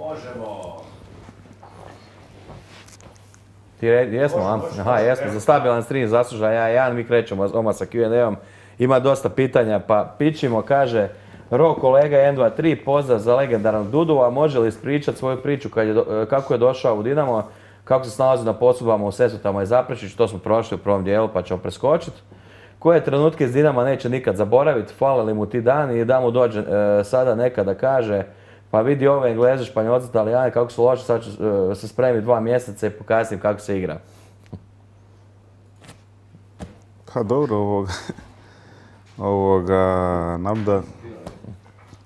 Možemo. Jesmo, aha, jesmo, za stabilan stream zaslužan ja, mi krećemo odmah sa Q&A-om. Ima dosta pitanja, pa pičimo, kaže Ro, kolega 1, 2, 3, pozdrav za legendarnog Dudu, a može li ispričati svoju priču kako je došao u Dinamo, kako se snalazi na posudbama u Sesvetama i Zaprešiću, to smo prošli u prvom dijelu pa ćemo preskočiti. Koje trenutke iz Dinama neće nikad zaboraviti, fale li mu ti dani i da mu dođe sada neka da kaže pa vidi ove Engleze, Španjolci, Italijani kako su loši, sad ću se spremiti 2 mjeseca i pokazati im kako se igra. Pa dobro, nam da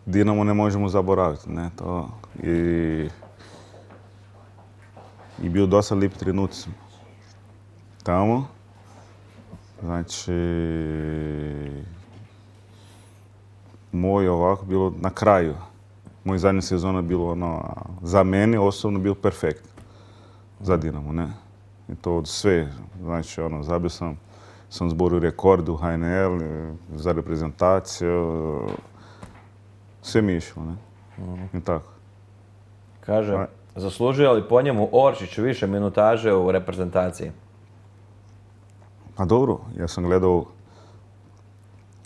Dinamo ne možemo zaboraviti, ne, to. I bio dosta lijep trenuci tamo. Znači, moj ovako bilo na kraju. Moj zadnja sezona bilo za mene osobno bilo perfekt za Dinamo, ne. I to od sve, znači zabio sam zborio rekord u HNL, za reprezentaciju, sve mi je išlo, ne. I tako. Kaže, zaslužuje li po njemu Oršić više minutaže u reprezentaciji? Pa dobro, ja sam gledao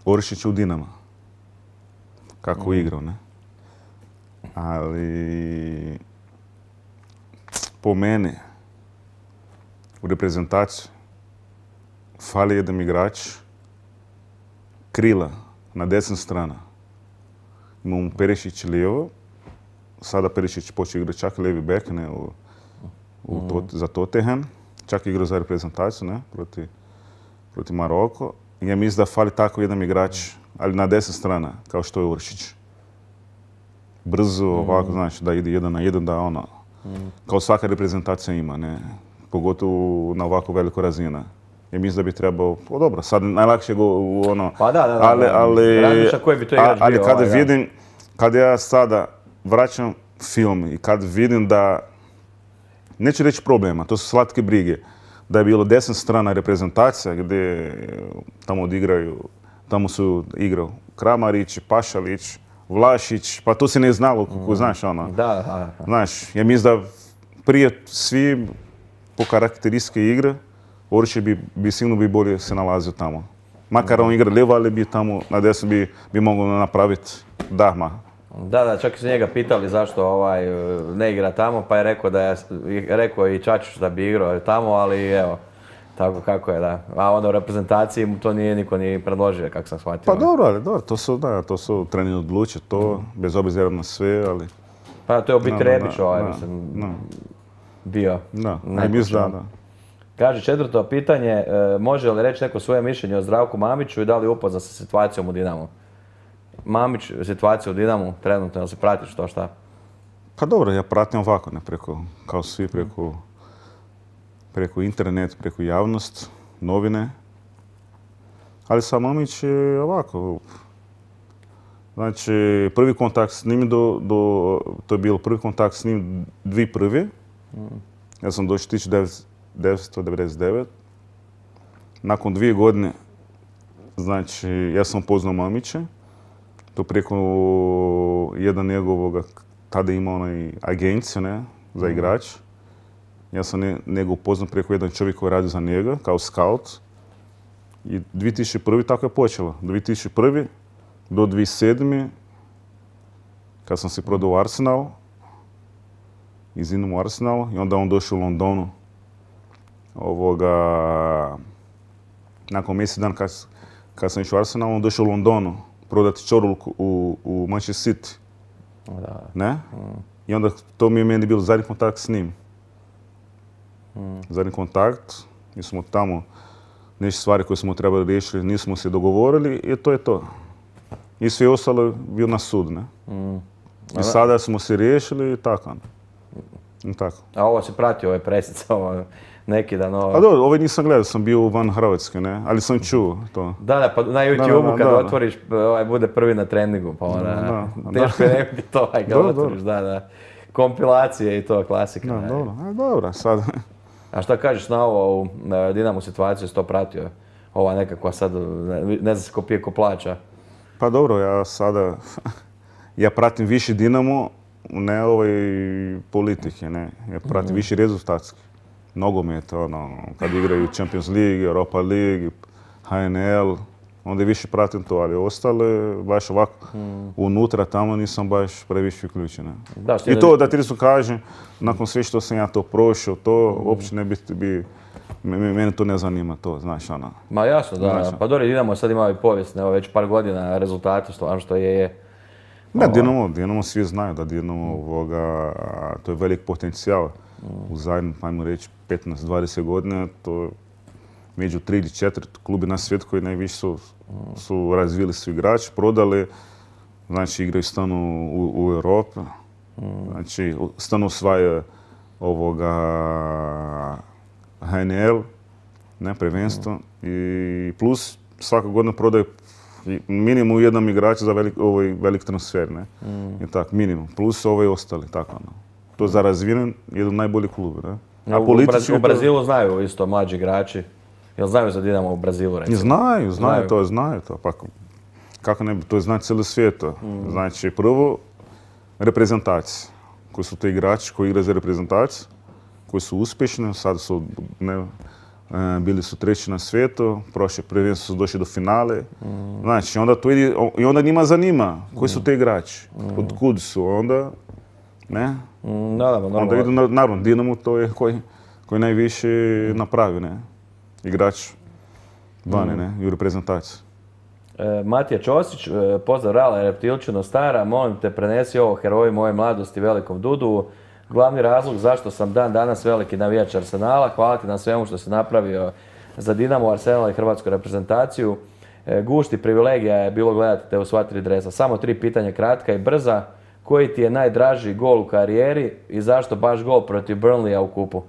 Oršić u Dinamo, kako igrao, ne. Ali po mene u reprezentaciji fali jedan igrač krila na desna strana. Imamo Perišić lijevo, sada Perišić počeo igrati čak lijevi bek, ne, za Tottenham, čak igrao za reprezentaciju, ne, proti Maroko. Ja mislim da fali tako jedan igrač, ali na desna strana, kao što je Oršić. Brzo, ovako, znači, da ide 1 na 1, da kao svaka reprezentacija ima, ne, pogotovo na ovako veliko razina. Ja mislim da bi trebao, dobro, sad najlakše go pa da, razmišlja koji bi to igrač bio. Ali kada vidim, kad ja sada vraćam film i kad vidim da, neću reći problema, to su slatke brige, da je bilo desna strana reprezentacija gdje tamo odigraju, tamo su igrao Kramarić, Pašalić, Vlašić, pa to se ne znalo, kako znaš, Da. Znaš, ja mislim da prije svi po karakteristike igre, Oršić bi sigurno bolje se nalazio tamo. Makar on igra lijevo, ali bi tamo na desno bi mogao napraviti dahma. Da, čak su njega pitali zašto ne igra tamo, pa je rekao i Čačić da bi igrao tamo, ali evo, tako kako je, da. A onda u reprezentaciji mu to nije niko ni predložio, kako sam shvatio. Pa dobro, ali dobro, to su treneri odlučili, to, bez obzira na sve, ali... Pa to je u biti Rebić mislim, bio. Da, mislim da. Kaže, 4. pitanje, može li reći neko svoje mišljenje o Zdravku Mamiću i da li je upoznat sa situacijom u Dinamu? Mamić, situaciju u Dinamu, trenutno, se pratiš to šta? Pa dobro, ja pratim ovako, ne kao svi preko internet, preko javnost, novine. Ali sa Mamić je ovako. Znači, prvi kontakt s njim to je bilo prvi kontakt s njim 2001. Ja sam došao 1999. Nakon 2 godine, znači, ja sam poznao Mamića. To preko jedan njegovog, tada imao onaj agenciju, ne, za igrač. Ja sam njega upoznao preko jedan čovjek koji radi za njega, kao scout. I 2001. tako je počelo. 2001. do 2007. kad sam se prodao u Arsenal, iz Dinamo Arsenal, i onda on došao u Londonu. Nakon mjesec dan kad sam išao u Arsenal, on došao u Londonu prodati Čorulku u Manchester City. Ne? I onda to mi je meni bilo zadnji kontakt s njim. Zadnji kontakt, mi smo tamo nešto stvari koje smo trebali riješiti, nismo se dogovorili i to je to. I sve ostalo je bio na sud, ne? I sada smo se riješili i tako. A ovo si pratio, ove presice, neki dan ovo... A dobro, ovaj nisam gledao, sam bio van Hrvatske, ne? Ali sam čuo to. Da, pa na YouTube-u kad otvoriš, bude prvi na treningu, pa teško je nekako to, kad otvoriš, da. Kompilacije i to, klasika. Dobro, sad... A šta kažeš na ovo, u Dinamu situaciju, si to pratio? Ova nekakva sad, ne znam se ko pije, ko plaća. Pa dobro, ja sada, ja pratim više Dinamo ne politike, ne. Ja pratim više rezultatski. Nogomet, kad igraju Champions League, Europa League, HNL, onda više pratim to, ali ostale, baš ovako, unutra tamo nisam baš previše uključen. I to, da ti su kažem, nakon sve što sam ja to prošao, to uopće ne bi, mene to ne zanima, to, znaš, ono. Ma jasno, da, pa dobro, Dinamo sad ima i povijesne, već par godina rezultati, stvarno što je. Ne, Dinamo svi znaju da Dinamo, to je velik potencijal. U zadnjih, ajmo reći, 15-20 godina, to je među 3 ili 4 klubi na svijetu koji najviše su razvili su igrači, prodali, znači igraju stanu u Europi, znači stanu osvaja HNL, ne, prvenstvo, i plus svaka godina prodaju minimum jedan igrač za velik transfer, ne, i tako, minimum, plus ostali, tako, to je za razvijen jedan najbolji klub, ne. U Brazilu znaju isto mlađi igrači. Jel znaju za Dinamo u Brazilu, recimo? Znaju to. Pa kako ne bi, to zna cijeli svijet. Znači, prvo, reprezentacija. Koji su to igrači koji igraju za reprezentaciju, koji su uspješni, sad su, bili su treći na svijetu, prošle prvenstvo su došli do finale. Znači, onda to ide, i onda njima zanima koji su te igrači, od kud su, onda, ne? Onda idu, naravno, Dinamo to je koji najviše napravi, ne? Igrač vani, ne, i u reprezentaciji. Matija Ćosić, pozdrav Rala, Reptilčino stara, molim te prenesi ovo heroji moje mladosti velikom Dudu. Glavni razlog zašto sam dan danas veliki navijač Arsenala, hvala ti na svemu što si napravio za Dinamo, Arsenal i hrvatsku reprezentaciju. Gušti privilegija je bilo gledati te u sva 3 dresa. Samo 3 pitanja kratka i brza. Koji ti je najdraži gol u karijeri i zašto baš gol protiv Burnleya u kupu?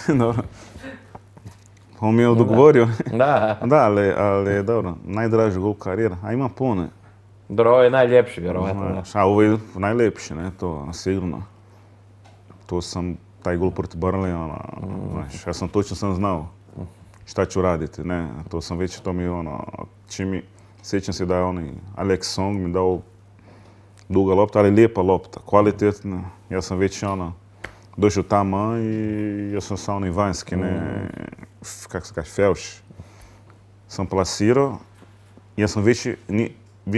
Dobro. On mi je odgovorio. Da. Da, ali dobro, najdraži gol karijera, a ima puno. Dobro, ovo je najljepši, vjerovatno. Ovo je najljepši, ne, to sigurno. To sam, taj gol protiv Burnleya, ja sam točno znao šta ću raditi, ne, to sam već, to mi sjećam se da je Alex Song mi dao duga lopta, ali lijepa lopta, kvalitetna. Ja sam već došao tamo i ja sam sa onaj vanjski, kako se kaže, felš, sam plasirao. Ja sam već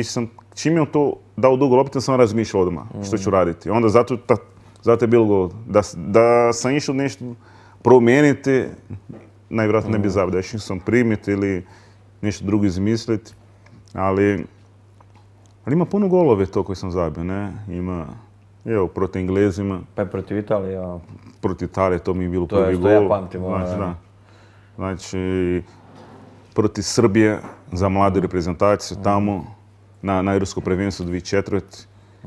sam, čim je on to dao dugo loptu, sam razmišljao odmah što ću raditi. Onda zato je bilo gol. Da sam išao nešto promijeniti, najvjerojatno ne bi zabio. Da išao sam primiti ili nešto drugo izmisliti. Ali ima puno golove to koje sam zabio, ne? Ima, evo, protiv Englezima. Pa protiv Italije, Protiv Italije, to mi je bilo prvi gol. To je što ja pamtim. Znači, protiv Srbije za mladu reprezentaciju tamo, na europsko prvenstvo 2004.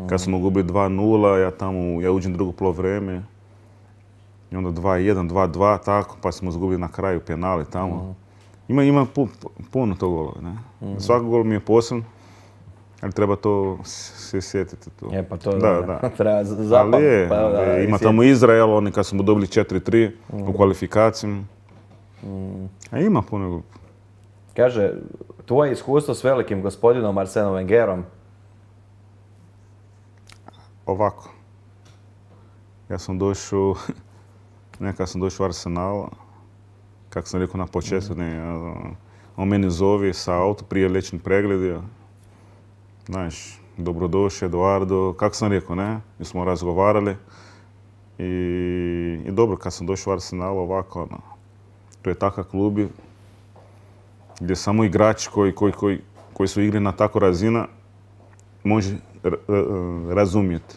Kad smo gubili 2-0, ja uđem drugo polovreme. I onda 2-1, 2-2, tako, pa smo izgubili na kraju penali tamo. Ima puno to golova, ne? Svaki gol mi je poseban, ali treba to se sjetiti. Pa to treba zapamtiti. Ima tamo Izrael, oni kad smo dobili 4-3 u kvalifikaciji. A ima puno golova. Kaže, tvoje iskustvo s velikim gospodinom Arsenom Wengerom? Ovako. Ja sam došao, nekad sam došao u Arsenal, kako sam rekao na početku, on meni zove sa auto prije liječni pregled. Znaš, dobrodošli, Eduardo, kako sam rekao, ne? Mi smo razgovarali. I dobro, kad sam došao u Arsenal, ovako, to je takav klub gdje samo igrači koji su igri na tako razina može razumjeti.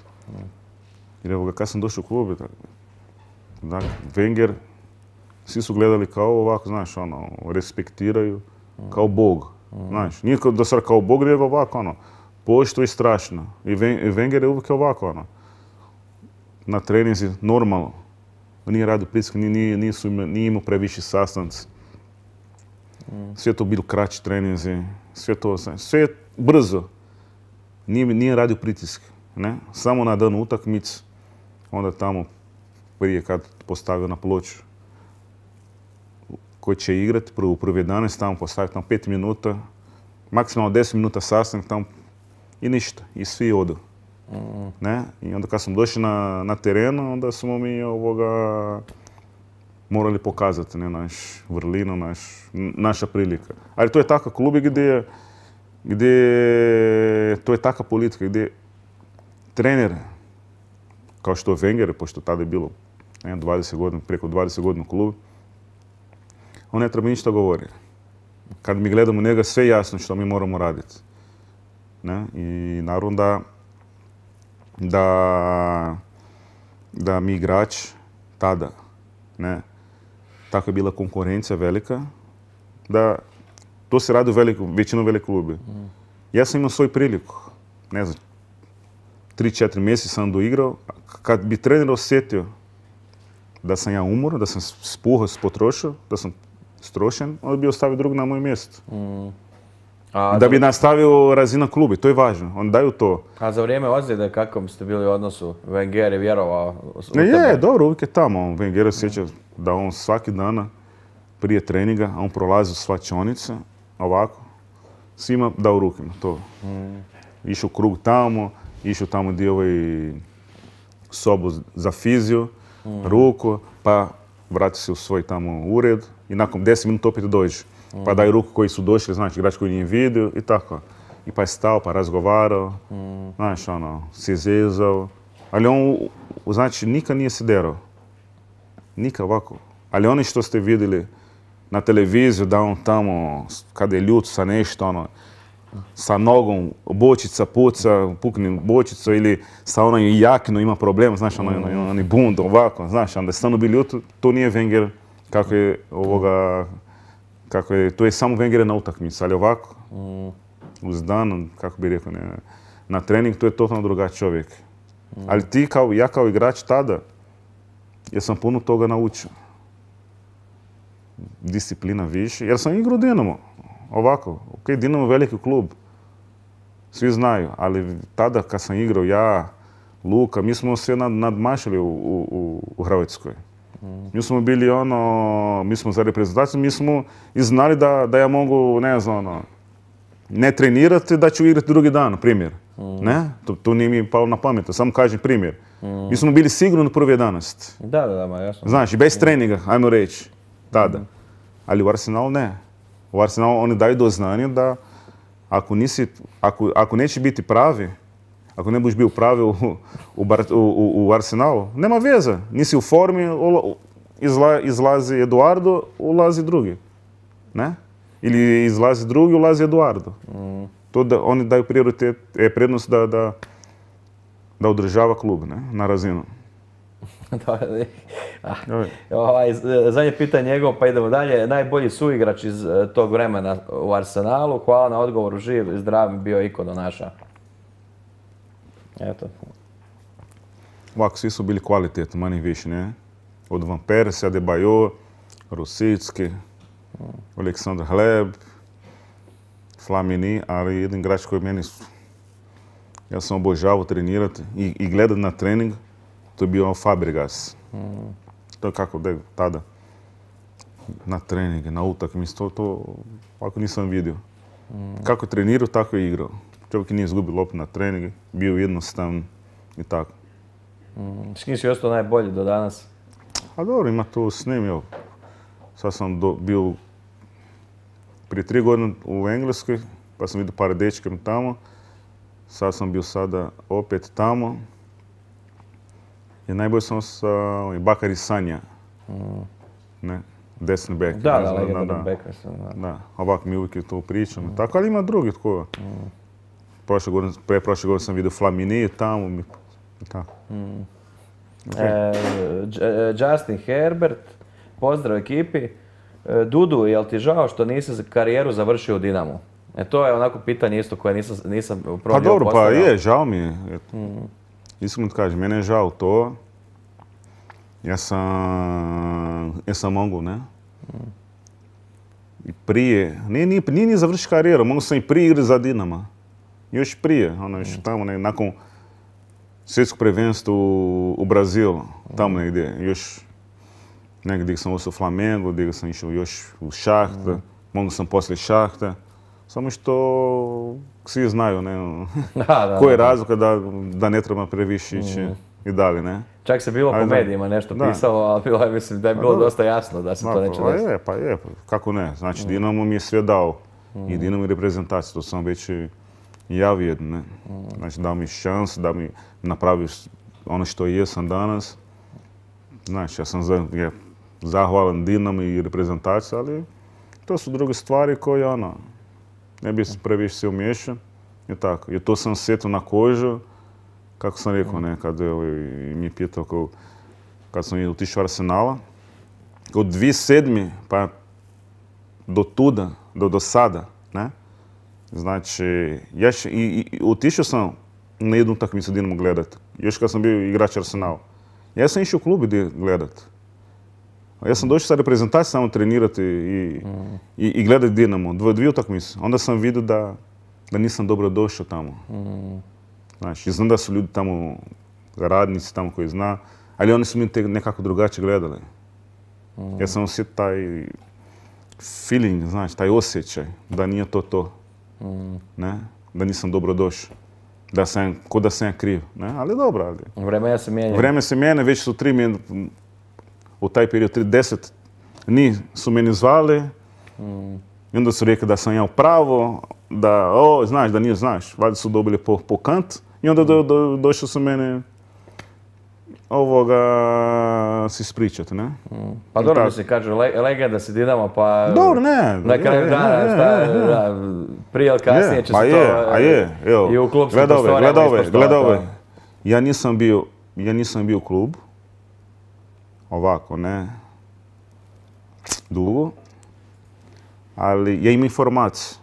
Jer evo ga, kad sam došao u klub, Wenger, svi su gledali kao ovako, znaš, respektiraju, kao Bog. Znaš, nije do sada kao Bog, nego ovako, pošto i strašno. I Wenger je uvijek ovako, na treninzi normalno. Nije radio pritisak, nije imao previše sastanci. Sve to bilo kraći treninzi, sve je brzo. Nije radio pritisak, ne? Samo na dan utakmice, onda tamo prije kad postavio na ploču koji će igrati, prvi 11, tamo postavio tamo 5 minuta, maksimalno 10 minuta sastanak tamo i ništa, i svi odu. Ne? I onda kad smo došli na terenu, onda smo mi morali pokazati, ne, naš vrlinu, naša prilika. Ali to je takav klub gdje to je takva politika, gdje trener, kao što je Wenger, pošto tada je bilo 20 godina, preko 20 godina u klubu, on ne treba ništa govori. Kad mi gledamo njega, sve jasno što mi moramo raditi. Ne? I naravno da mi igrač tada, ne, tako je bila konkurencija velika, da to se radi u većinu velikih klubi. Ja sam imao svoju priliku, ne znam, 3-4 mjeseca sam doigrao, kad bi trener osjetio da sam ja umor, da sam spuhao, potrošio, da sam strošen, on bi ostavio drug na moje mjesto. Da bi nastavio razina klubi, to je važno, on daju to. A za vrijeme ozljede kakvom ste bili u odnosu? Wenger je vjerovao u tebe? Je, dobro, uvijek je tamo. Wenger osjeća da on svaki dana prije treninga, on prolazi u svačionice, ovako, svima dao rukama, to. Išao krug tamo, išao tamo gdje sobu za fiziju, ruku, pa vrati se u svoj tamo ured i nakon 10 minuta opet dođe. Pa daju ruku koji su došli, znači igrač koji nije vidio i tako. I pa je stao, pa razgovarao, znaš, se zezao. Ali on, znači, nikad nije se derao. Nikad ovako. Ali oni što ste vidjeli na televiziju, da on tamo, kada je ljut sa nešto, sa nogom, bočica puca, pukne bočicu ili sa onoj jakino ima problem, znaš, oni bund, ovako, znaš, onda je stvarno bili ljut, to nije Wenger kako je, to je samo Wenger na utakmici, ali ovako, uz dan, kako bi rekao, na trening, to je totalno drugačiji čovjek. Ali ja kao igrač tada, ja sam puno toga naučio. Disciplina više, jer sam igrao Dinamo, ovako, Dinamo je veliki klub, svi znaju, ali tada kad sam igrao ja, Luka, mi smo sve nadmašili u Hrvatskoj. Mi smo bili mi smo za reprezentaciju, mi smo i znali da ja mogu, ne znam, ne trenirati, da ću igrati drugi dan, primjer. Ne? To nije mi palo na pamet, samo kažem primjer. Mi smo bili sigurni prvi 11. Da, ma jasno. Znaš, bez treninga, ajmo reći, tada. Ali u Arsenalu ne. U Arsenalu oni daju do znanja da ako neće biti pravi, ako ne budeš bio pravi u Arsenalu, nema veze. Nisi u formi, izlazi Eduardo, ulazi drugi. Ne? Ili izlazi drugi, ulazi Eduardo. To da oni daju prednost da održava klub, ne? Na razinu. Zadnje pitanje njegovo, pa idemo dalje. Najbolji suigrač iz tog vremena u Arsenalu. Hvala na odgovoru, živ i zdrav, bio ikono naša. Eto. Ovako, svi su bili kvalitetni, manje više, ne? Od Van Persie, Adebayor, Rosicki, Aleksandar Hleb, Flamini, ali jedan igrač koji meni, ja sam obožavao trenirati i gledati na trening, to je bio Fabregas. To je kako da je tada na treninge, na utakmice, to ovako nisam vidio. Kako je trenirao, tako je igrao. Čovjek nije izgubio loptu na treninge, bio jednostavan i tako. S kim si ostao najbolji do danas? A dobro, ima to s njim, evo. Sad sam bio prije 3 godine u Engleskoj, pa sam vidio par dečka tamo. Sad sam bio sada opet tamo. I najbolje sam sa Bakary Sagna. Ne, desni bek. Da, legendarni bek. Da, ovako mi uvijek to pričam. Tako, ali ima drugi tko. Prošle godine sam vidio Flamini tamo. Tako. Justin Herbert, pozdrav ekipi. Dudu, jel ti žao što nisi karijeru završio u Dinamu? To je onako pitanje isto koje nisam probio postavljao. Pa dobro, pa je, žao mi je. Iskreno ti kažem, mene je žao to. Ja sam mogu, ne? I prije, nije ni završio karijeru, mogu sam i prije igrati za Dinama. Još prije, još tamo nakon svjetskog prvenstva u Brazilu, tamo negdje, još negdje sam ostao u Flamengu, gdje sam išao još u Šahta, mogu sam poslije Šahta, samo što svi znaju, ne, Da, koja je razlika da ne treba previše ići i dalje, ne. Čak se bilo po medijima nešto pisalo, ali bilo je, mislim da je bilo dosta jasno da se to neće desiti. Pa je, kako ne. Znači, Dinamo mi je sve dao. I Dinamo i reprezentaciju, to sam već i javio, ne. Znači, dao mi šans da mi napraviš ono što jesam danas. Znači, ja sam zahvalan Dinamo i reprezentaciji, ali to su druge stvari koje, ne bi se previše se umiješao. I tako. I to sam osjetio na kožu. Kako sam rekao, ne, kad mi je pitao kad sam otišao u Arsenala, od 2007. pa do tuda, do sada, ne, znači, otišao sam na jednu utakmicu Dinamo gledat, još kad sam bio igrač Arsenala. Ja sam išao u klub gledat. Ja sam došao sa reprezentacijom samo trenirati i gledati Dinamo, dvije utakmice. Onda sam vidio da nisam dobro došao tamo. Znači, znam da su ljudi tamo, radnici tamo koji zna, ali oni su mi nekako drugačije gledali. Ja sam osjetio taj feeling, znači, taj osjećaj da nije to. Ne? Da nisam dobro došao. Ko da sam ja kriv. Ne? Ali dobro. Vremena se mijenja. Vreme se mijenja, već su u taj period 10 su meni zvali. I onda su rekli da sam ja u pravo, znaš, da nije znaš. Valjda su dobili po kant. I onda došli su mene se ispričati, ne? Pa dobro, mislim, kažu, legenda si Dinamo, pa... Dobro, ne. Na kraju dana, prije ili kasnije će se to... I u klubskim prostorijama ispoštovati. Gleda ove. Ja nisam bio u klub. Ovako, ne. Dugo. Ali ja imam informaciju.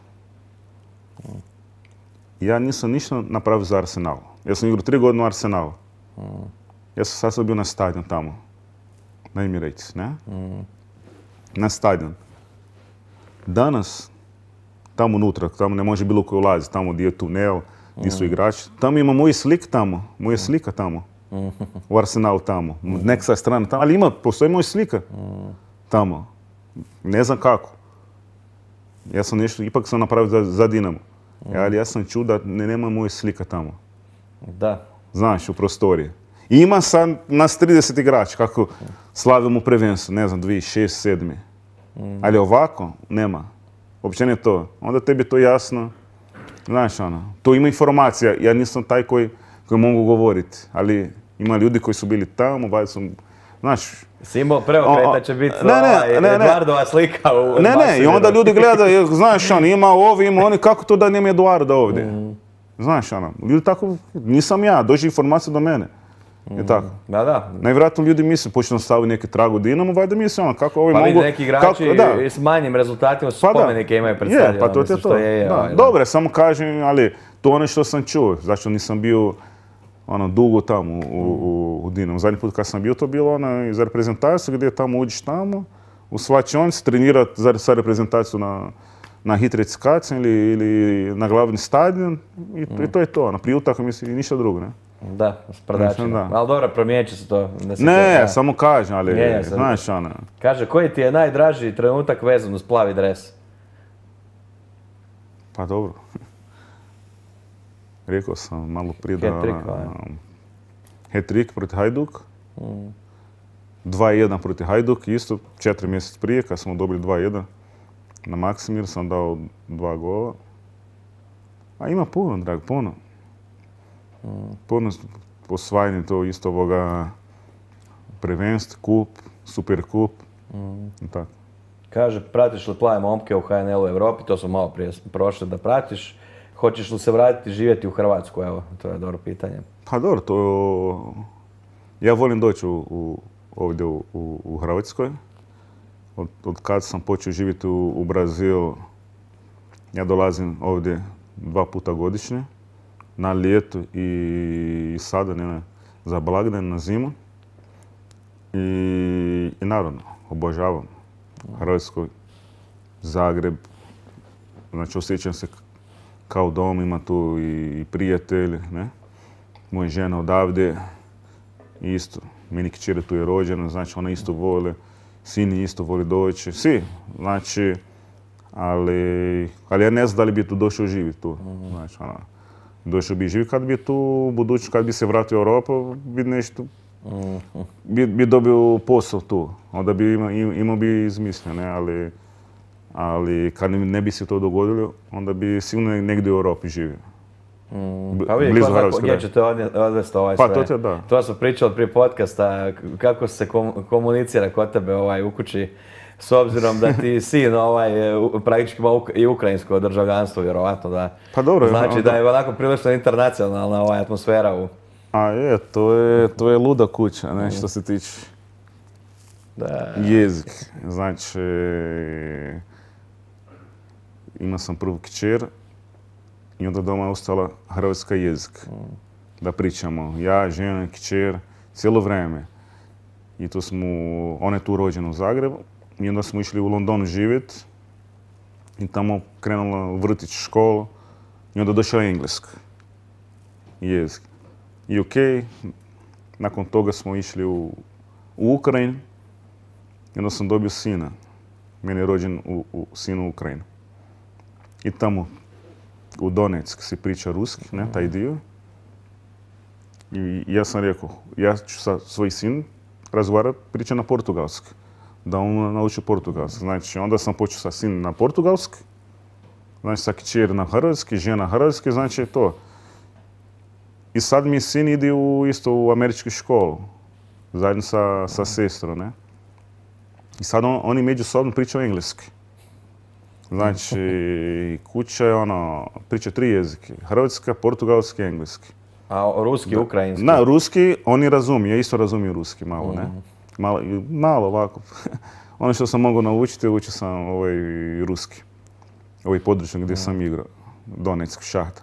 Ja nisam ništa napravio za Arsenal. Ja sam igrao 3 godine u Arsenalu. Ja sam sad bio na stadion tamo. Na Emirates, ne? Na stadion. Danas, tamo unutra, tamo ne može bilo koji ulaziti, tamo gdje je tunel, gdje su igrači. Tamo ima moja slika tamo. U Arsenalu tamo. Neka strana tamo. Ali postoji moja slika tamo. Ne znam kako. Ja sam ipak sam napravio za Dinamo. Ali ja sam čuo da nema moje slika tamo. Da. Znaš, u prostoriji. I ima sad nas 30 igrača, kako slavimo prvenstvo, ne znam, 2006, 2007. Ali ovako, nema. Uopće ne to. Onda tebi to jasno. Znaš, to ima informacija. Ja nisam taj koji mogu govoriti. Ali ima ljudi koji su bili tamo, znaš... Simo preokreta će biti Eduardova slika u... Ne, i onda ljudi gledaju, znaš, ima ovi, ima oni, kako to da nema Eduarda ovdje? Znaš, ljudi tako, nisam ja, dođe informacija do mene. I tako. Da. Najvjerojatno ljudi misle, počnu staviti neki trag u Dinamo, valjda misle, kako ovi mogu... Pa vidi, neki igrači s manjim rezultatima su spomenike imaju pred stadionom. Pa to je to. Dobre, samo kažem, ali to ono što sam čuo, zašto nisam bio dugo tamo u Dinamo. Zadnji put kad sam bio, to bilo za reprezentaciju, gdje tamo uđeš tamo, u svačionici, trenirati za reprezentaciju na hitricikaciju ili na glavni stadion i to je to. Prije utakmice i ništa drugo, ne? Da, s prdačima. Ali dobro, promijenit će se to. Ne, samo kažem, ali znaš Kaže, koji ti je najdraži trenutak vezan uz plavi dres? Pa dobro. Rekao sam malo prije da... Hat-trick protiv Hajduk. 2-1 protiv Hajduk, isto 4 mjeseca prije, kad smo dobili 2-1. Na Maksimir sam dao 2 gola. A ima puno, drag, puno. Puno osvajanje to isto ovoga prvenstva, kup, super kup. Tako. Kaže, pratiš li plave momke u HNL u Europi, to smo malo prije prošli da pratiš. Hoćeš li se vratiti živjeti u Hrvatsku? Evo, to je dobro pitanje. Pa dobro, to... Ja volim doći ovdje u Hrvatskoj. Od kad sam počeo živjeti u Brazilu, ja dolazim ovdje 2 puta godišnje. Na ljeto i sada, za blagdan, na zimu. I naravno, obožavam Hrvatsku, Zagreb. Znači, osjećam se kao dom, ima tu i prijatelji, ne? Moja žena odavde, isto, meni kćer tu je rođena, znači ona isto voli, sin isto voli doći, svi, znači, ali ja ne znam da li bi tu došao živjeti tu. Znači, došao bi živjeti kad bi tu budući, kad bi se vratio u Europu, bi nešto, bi dobio posao tu. Onda bi imao bi izmislio, ne, ali kad ne bi se to dogodilo, onda bi sigurno negdje u Europi živio. Pa vidi, gdje ćete odvesti ovaj sve. Pa to da. To smo pričali prije podcasta, kako se komunicira kod tebe u kući, s obzirom da ti sin praktički ima i ukrajinsko državljanstvo, vjerovatno da. Pa dobro. Znači da je onako prilično internacionalna atmosfera u... A je, to je luda kuća, ne, što se tiče jezik. Znači, imao sam prvu kćer i onda doma je ostala hrvatski jezik. Da pričamo, ja, žena, kćer, cijelo vrijeme. I to smo, ona je tu rođena u Zagrebu i onda smo išli u London živjeti i tamo krenula u vrtić, školu i onda došao engleski jezik. I okej, nakon toga smo išli u Ukrajinu i onda sam dobio sina. Meni je rođen sin u Ukrajini. I tamo u Donetsk se priča ruski, ne, taj dio. I ja sam rekao, ja ću sa svoj sin razgovarati, priča na portugalski. Da on nauči portugalski. Znači, onda sam počeo sa sin na portugalski, znači sa kćer na hrvatski, žena hrvatski, znači to. I sad mi sin ide isto u američku školu, zajedno sa sestrom, ne. I sad oni međusobno pričaju engleski. Znači, kuća je priča 3 jezike, hrvatska, portugalski i engleski. A ruski, ukrajinski? Da, ruski, oni razumiju, ja isto razumijem ruski malo, ne. Malo ovako. Ono što sam mogao naučiti, učio sam ruski. Ovaj područje gdje sam igrao, Donetsk, šahta.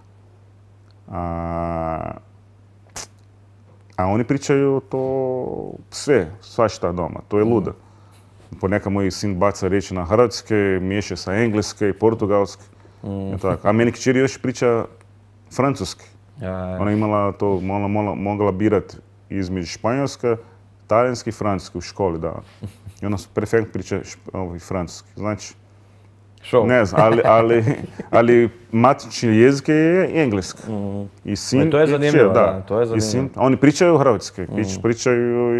A oni pričaju to sve, svašta doma, to je luda. Ponekad moj sin baca riječi na hrvatske, miješa sa engleske i portugalske. A meni kćer još priča francuski. Ona je imala to, mogla birati između španjolska, talijanski i francuski u školi, da. I ona perfektno priča francuski. Znači, ne znam, ali matični jezik je engleski. I sin, to je zanimljivo, da, to je zanimljivo. Oni pričaju hrvatski, pričaju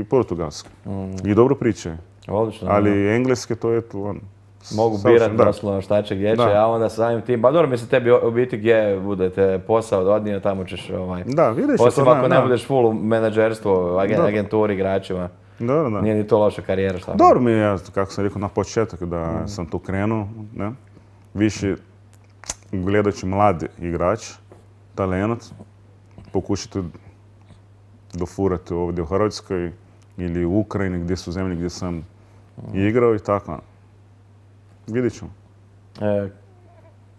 i portugalski. I dobro pričaju. Odlično. Ali engleski to je mogu birati doslovno šta će gdje će, a onda samim tim, pa dobro mislim tebi u biti gdje budete posao odnio, tamo ćeš Da, vidiš osim ako ne budeš full u menadžerstvu, agenturi, igračima. Da. Nije ni to loša karijera, šta? Dobro mi je, kako sam rekao na početak, da sam tu krenuo, ne? Više gledajući mladi igrač, talent, pokušati dofurati ovdje u Hrvatskoj ili u Ukrajini, gdje su zemlje gdje sam igrao i tako. Vidjet ćemo.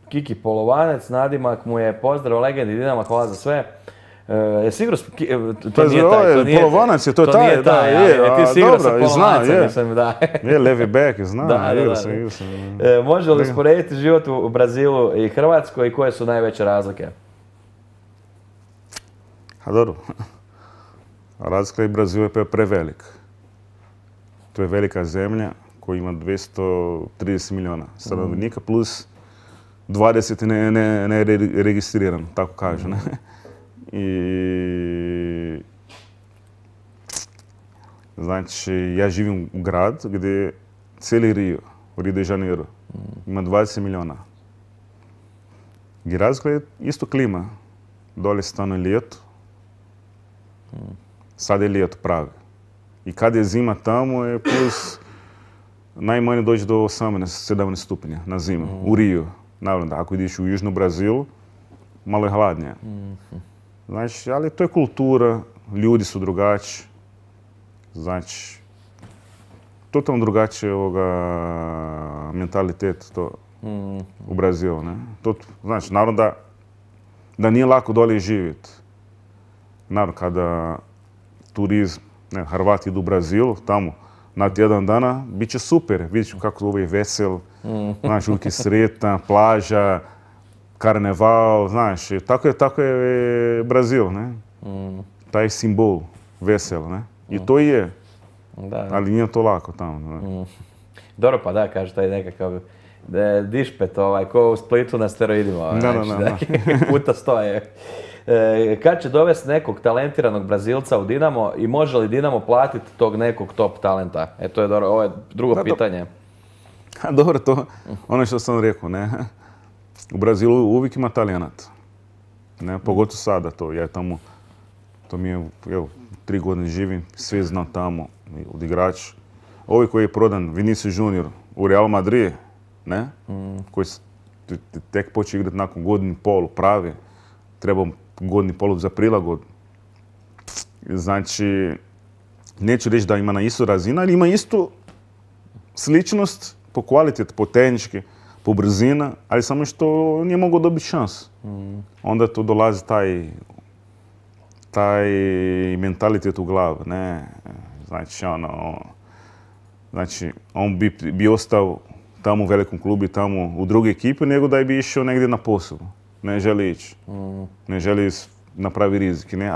Kiki Polovanec, nadimak mu je pozdrav legendi Dinama, hvala za sve. Sigurno, to nije taj. Polovanac je, to je taj, da, je. Ti sigurno sa Polovancem, mislim, da. Je, levi back, znam, igrao sam. Može li usporediti život u Brazilu i Hrvatskoj i koje su najveće razlike? A dobro, razlika i Brazil je prevelik. To je velika zemlja koja ima 230 milijuna stanovnika plus 20 ne registrirano, tako kažu. I znači, ja živim u grad gdje je cijeli Rio de Janeiro ima 20 milijuna. I razlika je isto klima. Dole stano je ljeto, sad je ljeto pravi. I kad je zima tamo je plus najmanje dođe do 18-17 stupnja na zimu, u Rio. Naravno, ako ideš u južnu Brazilu, malo je hladnije. Znači, ali to je kultura, ljudi su drugačiji. Znači, totalno drugačije mentalitet to u Brazilu, ne? Znači, naravno da nije lako dolje živjeti. Naravno, kada turizam, Hrvati idu u Brazilu, tamo, na tjedan dana, bit će super. Vidjet ću kako ovo je vesel, znaš, uvijek je sretan, plaža, karneval, znaš, tako je Brazil, ne? Taj simbol, vesel, ne? I to je, ali nije to lako tamo, ne? Dobro, pa da, kaže, taj nekakav dišpet, ko u Splitu na steroidima. Puta 100 je. Kad će dovesti nekog talentiranog Brazilca u Dinamo i može li Dinamo platiti tog nekog top talenta? To je dobro, ovo je drugo pitanje. Dobro, to ono što sam rekao, ne? U Brazilu uvijek ima talenata. Ne, pogotovo sada to. Ja tamo, to mi je, evo, 3 godine živim, sve znam tamo, od igrača. Ovi koji je prodan, Vinicius Junior, u Real Madrid, ne? Koji tek počeo igrati nakon godinu i pol, pravi. Treba godinu i pol za prilagodbu. Znači, neću reći da ima na istu razinu, ali ima istu sličnost po kvaliteti, po tehnički, po brzina, ali samo što nije mogao dobiti šans. Onda tu dolazi taj mentalitet u glavu, ne? Znači, on bi ostao tamo u velikom klubu i tamo u druge ekipe, nego da bi išao negdje na posao. Ne želi ići. Ne želi napravi rizik, ne?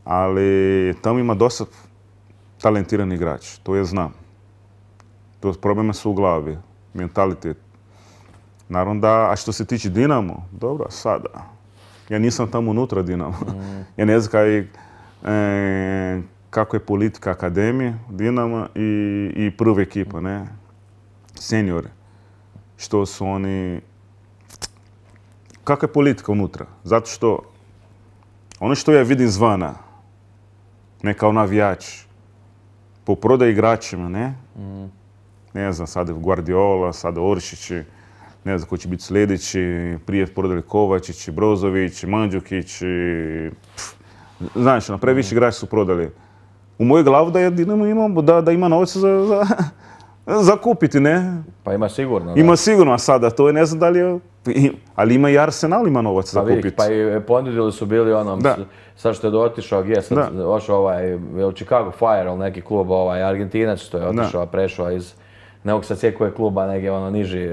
Ali tamo ima dosta talentirani igrač, to ja znam. Problema su u glavi, mentalitet. Naravno da, a što se tiče Dinamo, dobro, sada. Ja nisam tamo unutra Dinamo. Ja ne znam kako je politika akademije Dinama i prva ekipa, ne? Seniore. Što su oni... Kakva je politika unutra? Zato što ono što ja vidim zvana, ne kao navijač, po prodaji igračima, ne? Ne znam, sada je Guardiola, sada Oršići, ne znam ko će biti sljedeći, prije prodali Kovačić, Brozović, Mandžukić, znaš, previše igrači su prodali. U mojoj glavu da je Dinamo imamo, da ima novca za kupiti, ne? Pa ima sigurno. Ima sigurno, a sada to je, ne znam da li je, ali ima i Arsenal ima novac za kupiti. Pa i ponudili su bili onom, sad što je otišao, gdje sad došao Chicago Fire, ili neki klub, Argentinac što je otišao, prešao iz, ne mogu sad sjeti koji je kluba, neki niži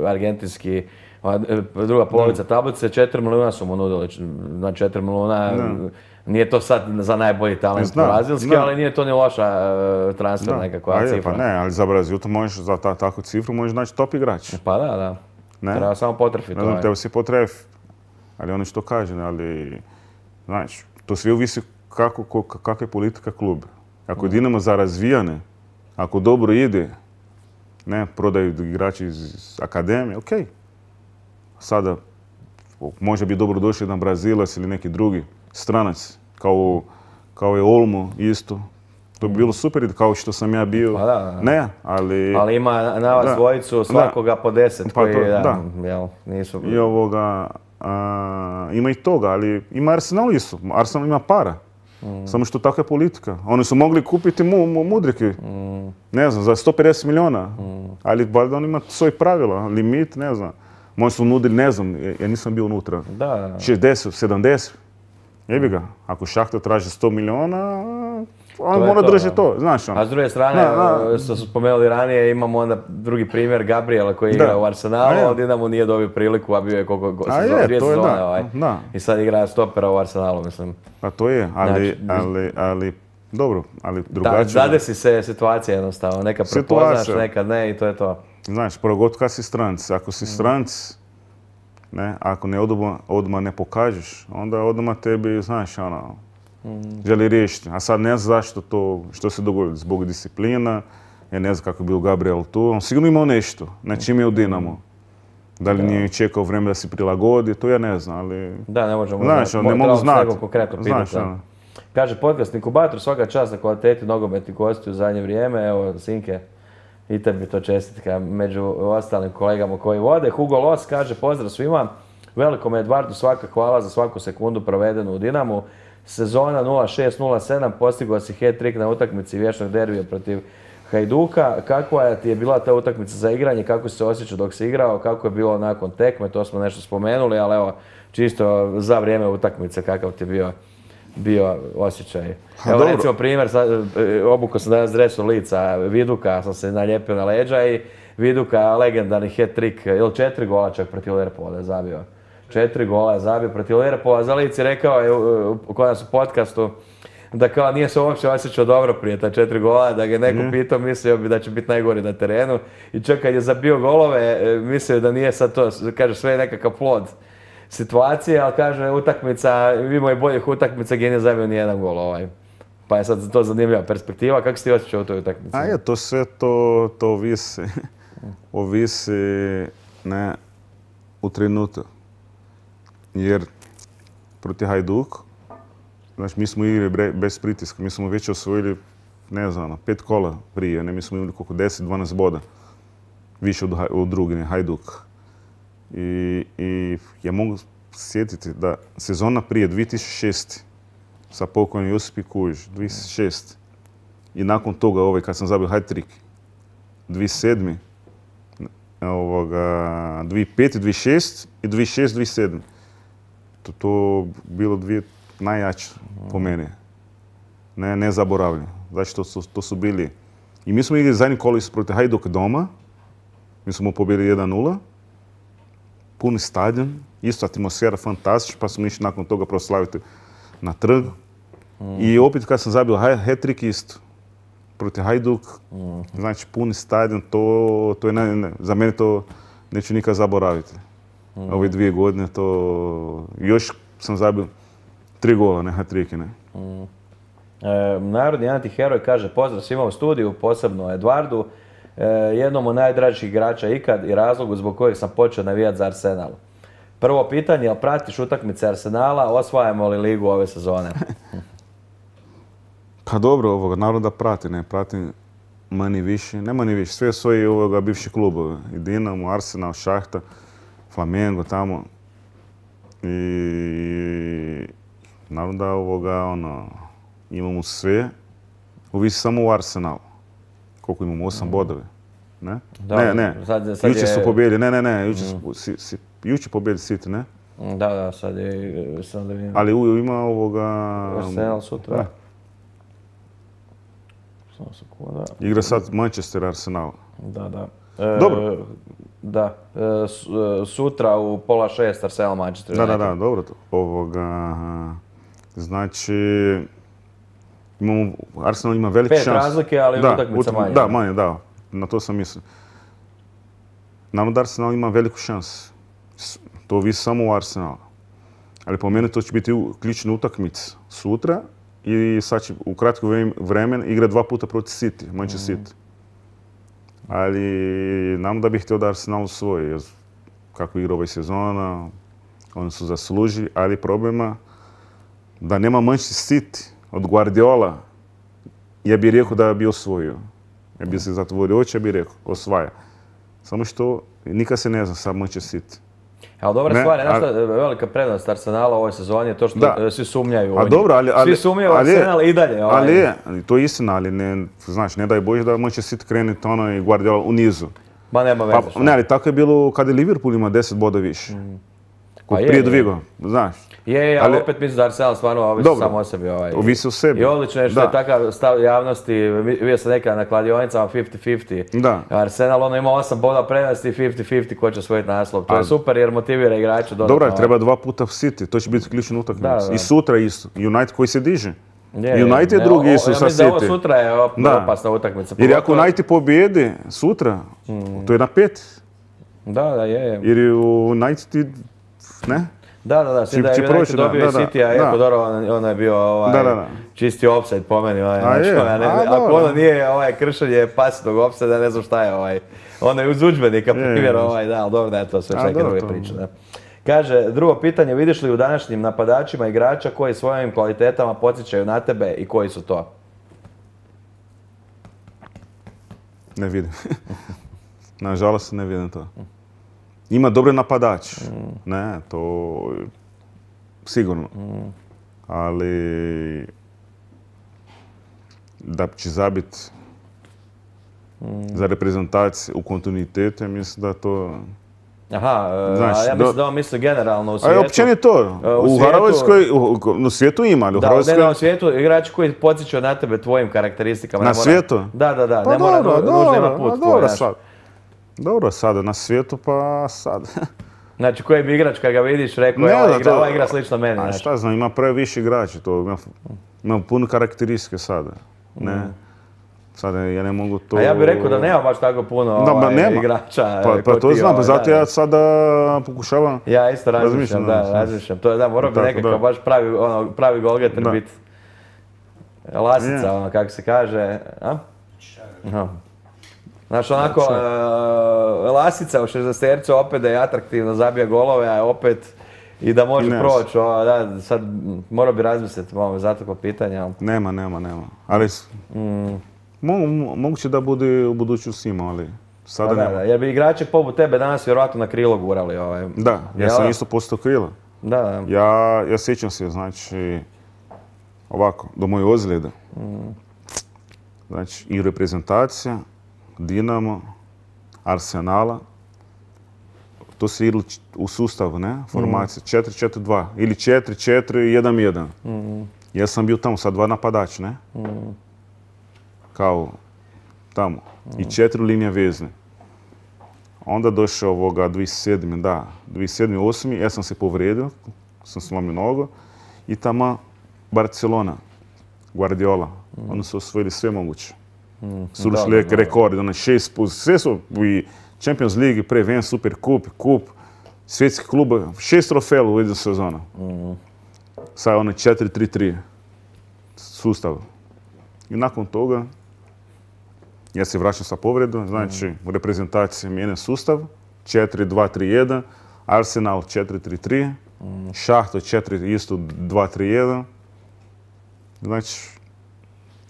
argentinski, druga polovica tablice, 4 milijuna su mu nudili, na 4 milijuna, nije to sad za najbolji talent brazilski, ali nije to ni loša transfer nekakva cifra. Pa ne, ali za Brazil to možeš, za takvu cifru možeš naći top igrač. Pa da. Treba samo potrefiti. Treba se potrefiti. Ali ono što kažem, ali, znači, to sve ovisi kakva je politika kluba. Ako je Dinamo za razvijane, ako dobro ide, ne, prodaju igrači iz akademije, okej. Sada, može bi dobro došli jedan Brazilac ili neki drugi stranac, kao je Olmo isto. To bi bilo super, kao što sam ja bio. Pa da. Ne, ali... Ali ima na vas dvojicu svakoga po 10 koji, nisu... I ima i toga, ali ima Arsenal isto. Arsenal ima para. Samo što takva je politika. Oni su mogli kupiti Mudrike, ne znam, za 150 milijuna. Ali valjda on ima svoje pravila, limit, ne znam. Možda su nudili, ne znam, ja nisam bio unutra. 60, 70. Jebi ga, ako Šahtar traži 100 milijuna, on mora držati to, znaš. A s druge strane, što su spomenuli ranije, imamo onda drugi primjer Gabriela koji igra u Arsenalu, ali Dinamo nije dobio priliku, a bio je koliko dvije sezone i sad igra stopera u Arsenalu, mislim. Pa to je, ali dobro, ali drugačije. Zadesi se situacija jednostavno, nekad prepoznaš, nekad ne i to je to. Znaš, prvo kad si stranci, ako si stranci, ne, ako odmah ne pokažeš, onda odmah tebi, znaš, želi riješiti. A sad ne znam zašto to, što se dogodilo, zbog disciplina, ja ne znam kako je bio Gabriel tu, on sigurno imao nešto, na čim je u Dinamo. Da li nije čekao vrijeme da se prilagodi, to ja ne znam, ali... Da, ne možemo ne mogu znati. Kaže podcast Inkubator, svaka čast na kvaliteti nogometnih gostiju u zadnje vrijeme, evo, Sinke, i tebi to čestitka među ostalim kolegama koji vode. Hugo Los kaže, pozdrav svima, velikom Edvardu svaka hvala za svaku sekundu provedenu u Dinamu. Sezona 06-07 postigao si hat-trick na utakmici vječnog derbija protiv Hajduka. Kakva ti je bila ta utakmica za igranje, kako si se osjećao dok si igrao, kako je bilo nakon tekme, to smo nešto spomenuli, ali evo, čisto za vrijeme utakmice, kakav ti je bio osjećaj. Evo recimo primjer, obukao sam danas dresu lica Viduka, sam se nalijepio na leđa i Viduka legendarni hat-trick, ili 4 gola čak protiv Liverpoola je zabio. 4 gola je zabio protiv Liverpoola, za lici rekao je kod nas u podcastu da kao nije se uopće osjećao dobro prije ta 4 gola, da ga je neko pitao, mislio bi da će biti najgori na terenu i čak kad je zabio golove, mislio da nije sad to, kaže sve je nekakav plod situacije, ali kaže utakmica, imao je boljih utakmica gdje nije zabio nijedan gol Pa je sad to zanimljiva perspektiva, kako si ti osjećao u toj utakmici? To sve to ovisi ne, u trenutak. Jer proti Hajduk, znači mi smo igrali bez pritiska, mi smo već osvojili, ne znam, 5 kola prije, mi smo imali koliko 10-12 boda više od drugine, Hajduk. I ja mogu sjetiti da sezona prije 2006. sa pokojnim Josip Kujić, 2006. I nakon toga, kad sam zabio hat-trick, 2007. 2005, 2006 i 2006, 2007. To bilo dvije najjače po meni. Ne zaboravljam. Znači, to su bili. I mi smo igrali zadnji kolis protiv Hajduka doma. Mi smo pobjedili 1-0. Puni stadion. Isto atmosfera fantastična, pa smo išli nakon toga proslaviti na trg. I opet kad sam zabio hat-trick isto. Protiv Hajduk. Znači, puni stadion. To je za mene to neću nikad zaboraviti. Ove 2 godine to... Još sam zabio 3 gola, ne hat-tricke, ne. Narodni antiheroj kaže pozdrav svima u studiju, posebno Eduardu, jednom od najdražih igrača ikad i razlogu zbog kojeg sam počeo navijati za Arsenal. Prvo pitanje, jel pratiš utakmice Arsenala, osvajamo li ligu ove sezone? Pa dobro, naravno da prati, ne pratim manje više, ne manje više, sve svoji bivši klubove, i Dinamo, Arsenal, Šahta, Flamengo tamo. I naravno da imamo sve, ovisi samo u Arsenalu. Koliko imamo? 8 bodove. Ne? Ne. Jučer su pobjedili, ne. Jučer pobjedili City, ne? Da, sad je... Ali ima Arsenal sutra. Samo sekunda. Igra sad Manchester Arsenal. Da. Dobro. Da, sutra u 5:30 Arsenal Manchester. Da, dobro to. Znači, Arsenal ima veliki šans. 5 razlike, ali utakmica manje. Da, manje, da. Na to sam mislio. Naravno da Arsenal ima veliku šansu. To ovisi samo u Arsenalu. Ali po meni to će biti ključna utakmica sutra i sad će u kratko vremena igra 2 puta protiv City, Manchester City. Ali nam da bih htio da Arsenal osvoji, jer kako igra ova sezona, oni su zaslužili, ali problema da nema Manchester City od Guardiola, ja bih rekao da bi osvojio. Ja bih se zatvorio oči, ja bih rekao, osvaja. Samo što nikad se ne zna sa Manchester City. Ali dobra stvar je, velika prednost Arsenala u ovoj sezoni je to što svi sumnjaju u njih. Svi sumnjaju u Arsenal i dalje. Ali to je istina, ali ne daj Bože da Manchester City krene i Guardiola u nizu. Ma nema veze. Ne, ali tako je bilo kada je Liverpool ima 10 boda više. Prije dvigo, znaš. Ali opet mislim da Arsenal stvarno ovisi samo o sebi. Ovisi o sebi. I odlično je što je takav stav javnosti, vidio sam nekada na kladionicama 50-50. Da. Arsenal ima 8 boda prednosti i 50-50 ko će osvojiti naslov. To je super jer motivira igrače dodatno. Dobro, treba 2 puta City, to će biti ključna utakmica. I sutra isto, United koji se diže. United je drugi isto sa City. Ja mislim da ovo sutra je opasna utakmica. Jer ako United pobjede sutra, to je na 5. Da, je. Jer United, ne? Da, s tim da je United dobio i City, a Ecuador, ono je bio čisti offside po meni. Ako ono nije kršenje pasivnog offside, ne znam šta je. Ono je uz udžbenika primjer, ali dobro da je to sve neke druge priče. Kaže, drugo pitanje, vidiš li u današnjim napadačima igrača koji svojim kvalitetama podsjećaju na tebe i koji su to? Ne vidim. Nažalost ne vidim to. Ima dobre napadač, ne, to sigurno. Ali da će zabiti za reprezentaciju u kontinuitetu, mislim da to... Aha, ja mislim da on misli generalno u svijetu. A općenito, u Hrvatskoj, u svijetu ima, ali u Hrvatskoj... Da, u svijetu igrači koji podsjećaju na tebe tvojim karakteristikama. Na svijetu? Da, ne mora nužno ima put tvoj. Dobro, sada na svijetu, pa sad. Znači, koji bi igrač kad ga vidiš rekao, ova igra slično meni. A šta znam, ima previše igrača, ima puno karakteristike sada. Ne? Sada ja ne mogu to... A ja bih rekao da nema baš tako puno igrača. Pa to znam, pa zato ja sada pokušavam... Ja isto razmišljam, To je, morao bi nekako baš pravi golgeter biti. Lasica, kako se kaže. Znaš, onako, Lasica u 60-tercu opet da je atraktivno, zabija golove, a opet i da može proći. Sad morao bi razmisliti za takvo pitanje. Nema. Ali moguće da bude u budućnosti ima, ali sada nema. Jer bi igrače poput tebe danas vjerojatno na krilo gurali. Da, ja sam isto postao krilo. Da. Ja sjećam se, znači, ovako, do moje ozljede. Znači, i reprezentacija, Dinamo, Arsenala, to se igralo u sustavu, ne? Formacija 4-4-2 ili 4-4-1-1. Ja sam bio tamo sa 2 napadača, ne? Kao tamo. I 4 linije vezne. Onda došao ovoga 2007. Da, 2007-2008. Ja sam se povrijedio, sam slomio nogu. I tamo Barcelona, Guardiola. Oni su osvojili sve moguće. Su ušli rekordi, 6, sve su i Champions League, pre Super Kup, svjetski klub, 6 trofeja u jednu sezonu. Sad ono 4-3-3 sustav. I nakon toga ja se vraćam sa povredom, znači u reprezentaciji mijenja sustav, 4-2-3-1, Arsenal 4-3-3, Šahto 4 isto 2-3-1. Znači,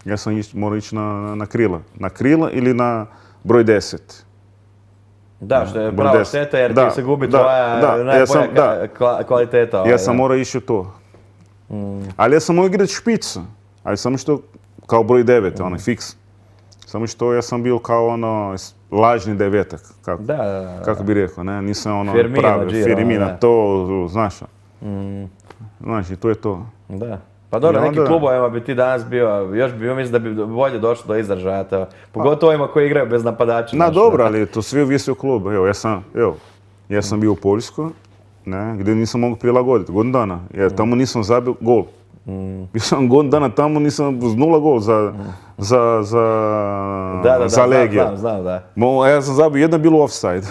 ja sam morao ići na krila. Na krila ili na broj 10. Da, što je prava šteta jer ti se gubi tvoja najbolja kvaliteta. Ja sam morao ići u to. Ali ja sam mogao igrati špicu. Ali samo što kao broj 9, onaj fiks. Samo što ja sam bio kao ono lažni devetak. Kako bi rekao, ne? Nisam ono pravi. Firmino, to, znaš. Znači, to je to. Da. Pa dobro, neki klubovima bi ti danas bio, još bi mislim da bi bolje došlo do izražaja. Pogotovo ovima koji igraju bez napadača. Dobro, ali to sve ovisi o klubu. Evo, ja sam bio u Poljskoj, gdje nisam mogao prilagoditi, godinu dana. Jer tamo nisam zabio gol. Bio sam godinu dana tamo, nisam uz 0 gol za Legija. Znam, da. Ja sam zabio, jedna bilo offside.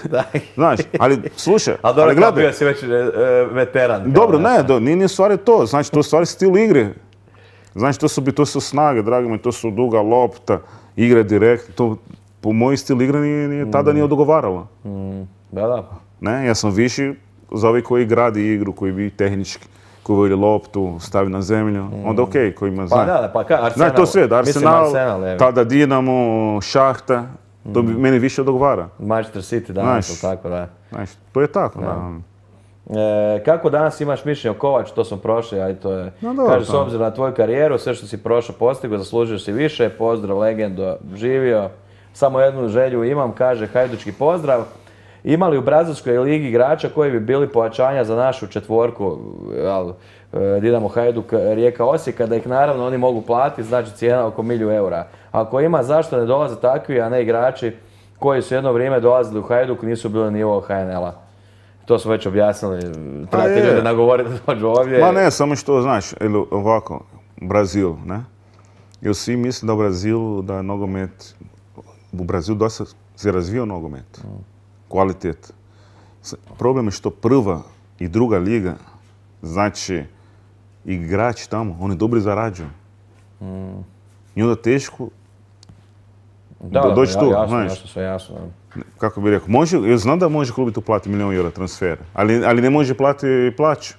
Znaš, ali slušaj, ali gledaj. Bio si već veteran. Dobro, nije stvari to. Znači, to je stvari stil igre. Znači, to su snage, dragi mi, to su duga lopta, igre direkt. To, po moj stil igre tada nije odgovaralo. Da. Ne, ja sam viši za ovi koji gradi igru, koji bi tehnički, koji vodi loptu, stavi na zemlju, onda okej, koji ima zna. Arsenal. Znači, to sve, Arsenal, tada Dinamo, Šahta, to bi meni više odgovara. Manchester City danas, tako da. Znači, to je tako, da. Kako danas imaš mišljenje o Kovaču, to smo prošli, ali to je, kaže, s obzirom na tvoju karijeru, sve što si prošao, postigao, zaslužio si više, pozdrav, legendo, živio, samo jednu želju imam, kaže, hajdučki pozdrav. Ima li u Brazilskoj ligi igrača koji bi bili pojačanja za našu četvorku, Dinamo, Hajduk, Rijeka, Osijek, da ih naravno oni mogu platiti, znači cijena oko 1.000.000 eura. Ako ima, zašto ne dolaze takvi, a ne igrači koji su jedno vrijeme dolazili u Hajduk, nisu bili nivo HNL-a? To smo već objasnili, trebate ljude nagovoriti da dođu ovdje. Ma ne, samo što znaš, ovako, Brazil, ne? Jer svi misle da u Brazilu, da je nogomet, u Brazilu dosta se razvio nogomet. Kvalitet. Problem je što prva i druga liga, znači igrači tamo, oni dobro zarađuju. I onda teško doći tu, znaš. Jasno. Kako bi rekao, znam da može klub tu platiti 1.000.000 eura transfer, ali ne može platiti plaću.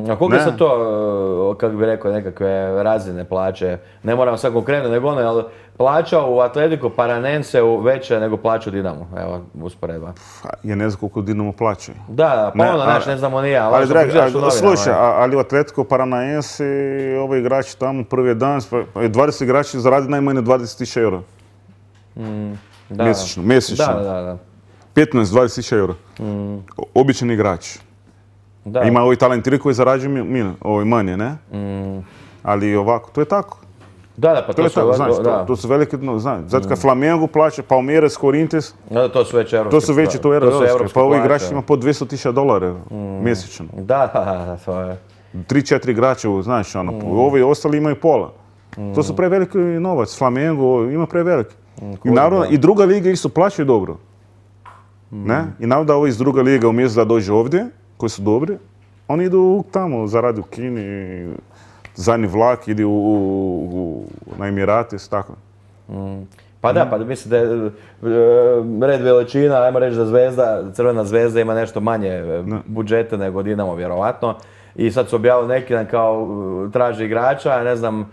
A koliko su to, kako bi rekao, nekakve razine plaće? Ne moram sad konkretno, nego ono, ali plaća u Atletico Paranenseu veća nego plaća u Dinamo, evo, usporedba. Ja ne znam koliko Dinamo plaća. Da, pa ono, ne znamo ni ja. Slušaj, ali u Atletico Paranaense, ovi igrači tamo, prvi dan, 20 igrači zaradi najmanje 20.000 eura. Mjesečno. Da. 15-20.000 eura. Običan igrač. Ima ovi talentiri koji zarađuju manje, ne? Ali ovako, to je tako. Da, pa to su... Znaš, to su velike, znaš, zato kad Flamengo plaća, Palmeiras, Corinthians, Da, to su već evropske. to su veći, to je evropske. Pa ovi igrači plaće. ima po $200,000 mjesečno. Da, to je... 3-4 igrača, znaš, ovi ostali imaju pola. To su preveliki novac, Flamengo ima preveliki. I naravno, i druga liga isto plaćaju dobro. Ne? I naravno da ovi iz druga liga umjesto da dođe ovdje, koji su dobri, oni idu tamo, zaradi u Kini, zadnji vlak, ide na Emirates, tako. Pa da, pa mislim da je red veličina, ajmo reći da Zvezda, Crvena Zvezda ima nešto manje budžeta nego Dinamo, vjerovatno. I sad su objavili neki dan kao traži igrača, ne znam,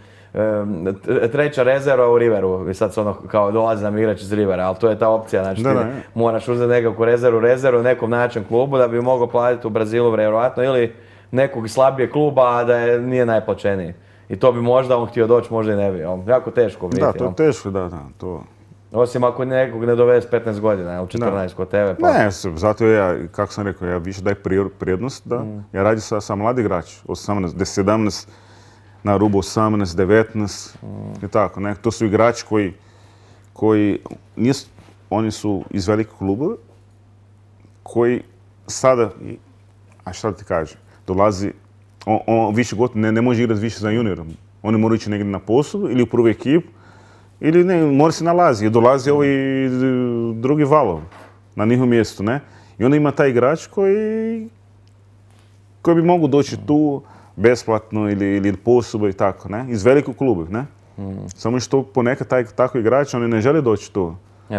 treća rezerva u Riveru. I sad se ono kao dolazi nam igrač iz Rivera, ali to je ta opcija, znači ti moraš uzeti nekakvu rezervu u nekom način klubu da bi mogao platiti u Brazilu vjerovatno ili nekog slabijeg kluba, a da nije najplaćeniji. I to bi možda on htio doći, možda i ne bi. Jako teško biti. Da, to je teško, da, to... Osim ako nekog ne doveze 15 godina, ili 14 kod tebe. Pa... Ne, zato ja, kako sam rekao, ja više daj prednost da ja radim sa mladi igrači, 18, 17, na rubu 18, 19 i tako. Ne? To su igrači koji nisu, oni su iz velikog kluba, koji sada, a šta ti kaže, dolazi, on više godina ne može igrati više za juniorom. Oni moraju ići negdje na poslu ili u prvu ekipu, ili ne, mora se nalazi, dolazi ovaj drugi valov na njihovom mjestu, ne? I onda ima taj igrač koji bi mogu doći tu besplatno ili poslubo i tako, ne? Iz velikog kluba, ne? Samo što ponekad tako igrač, oni ne žele doći tu.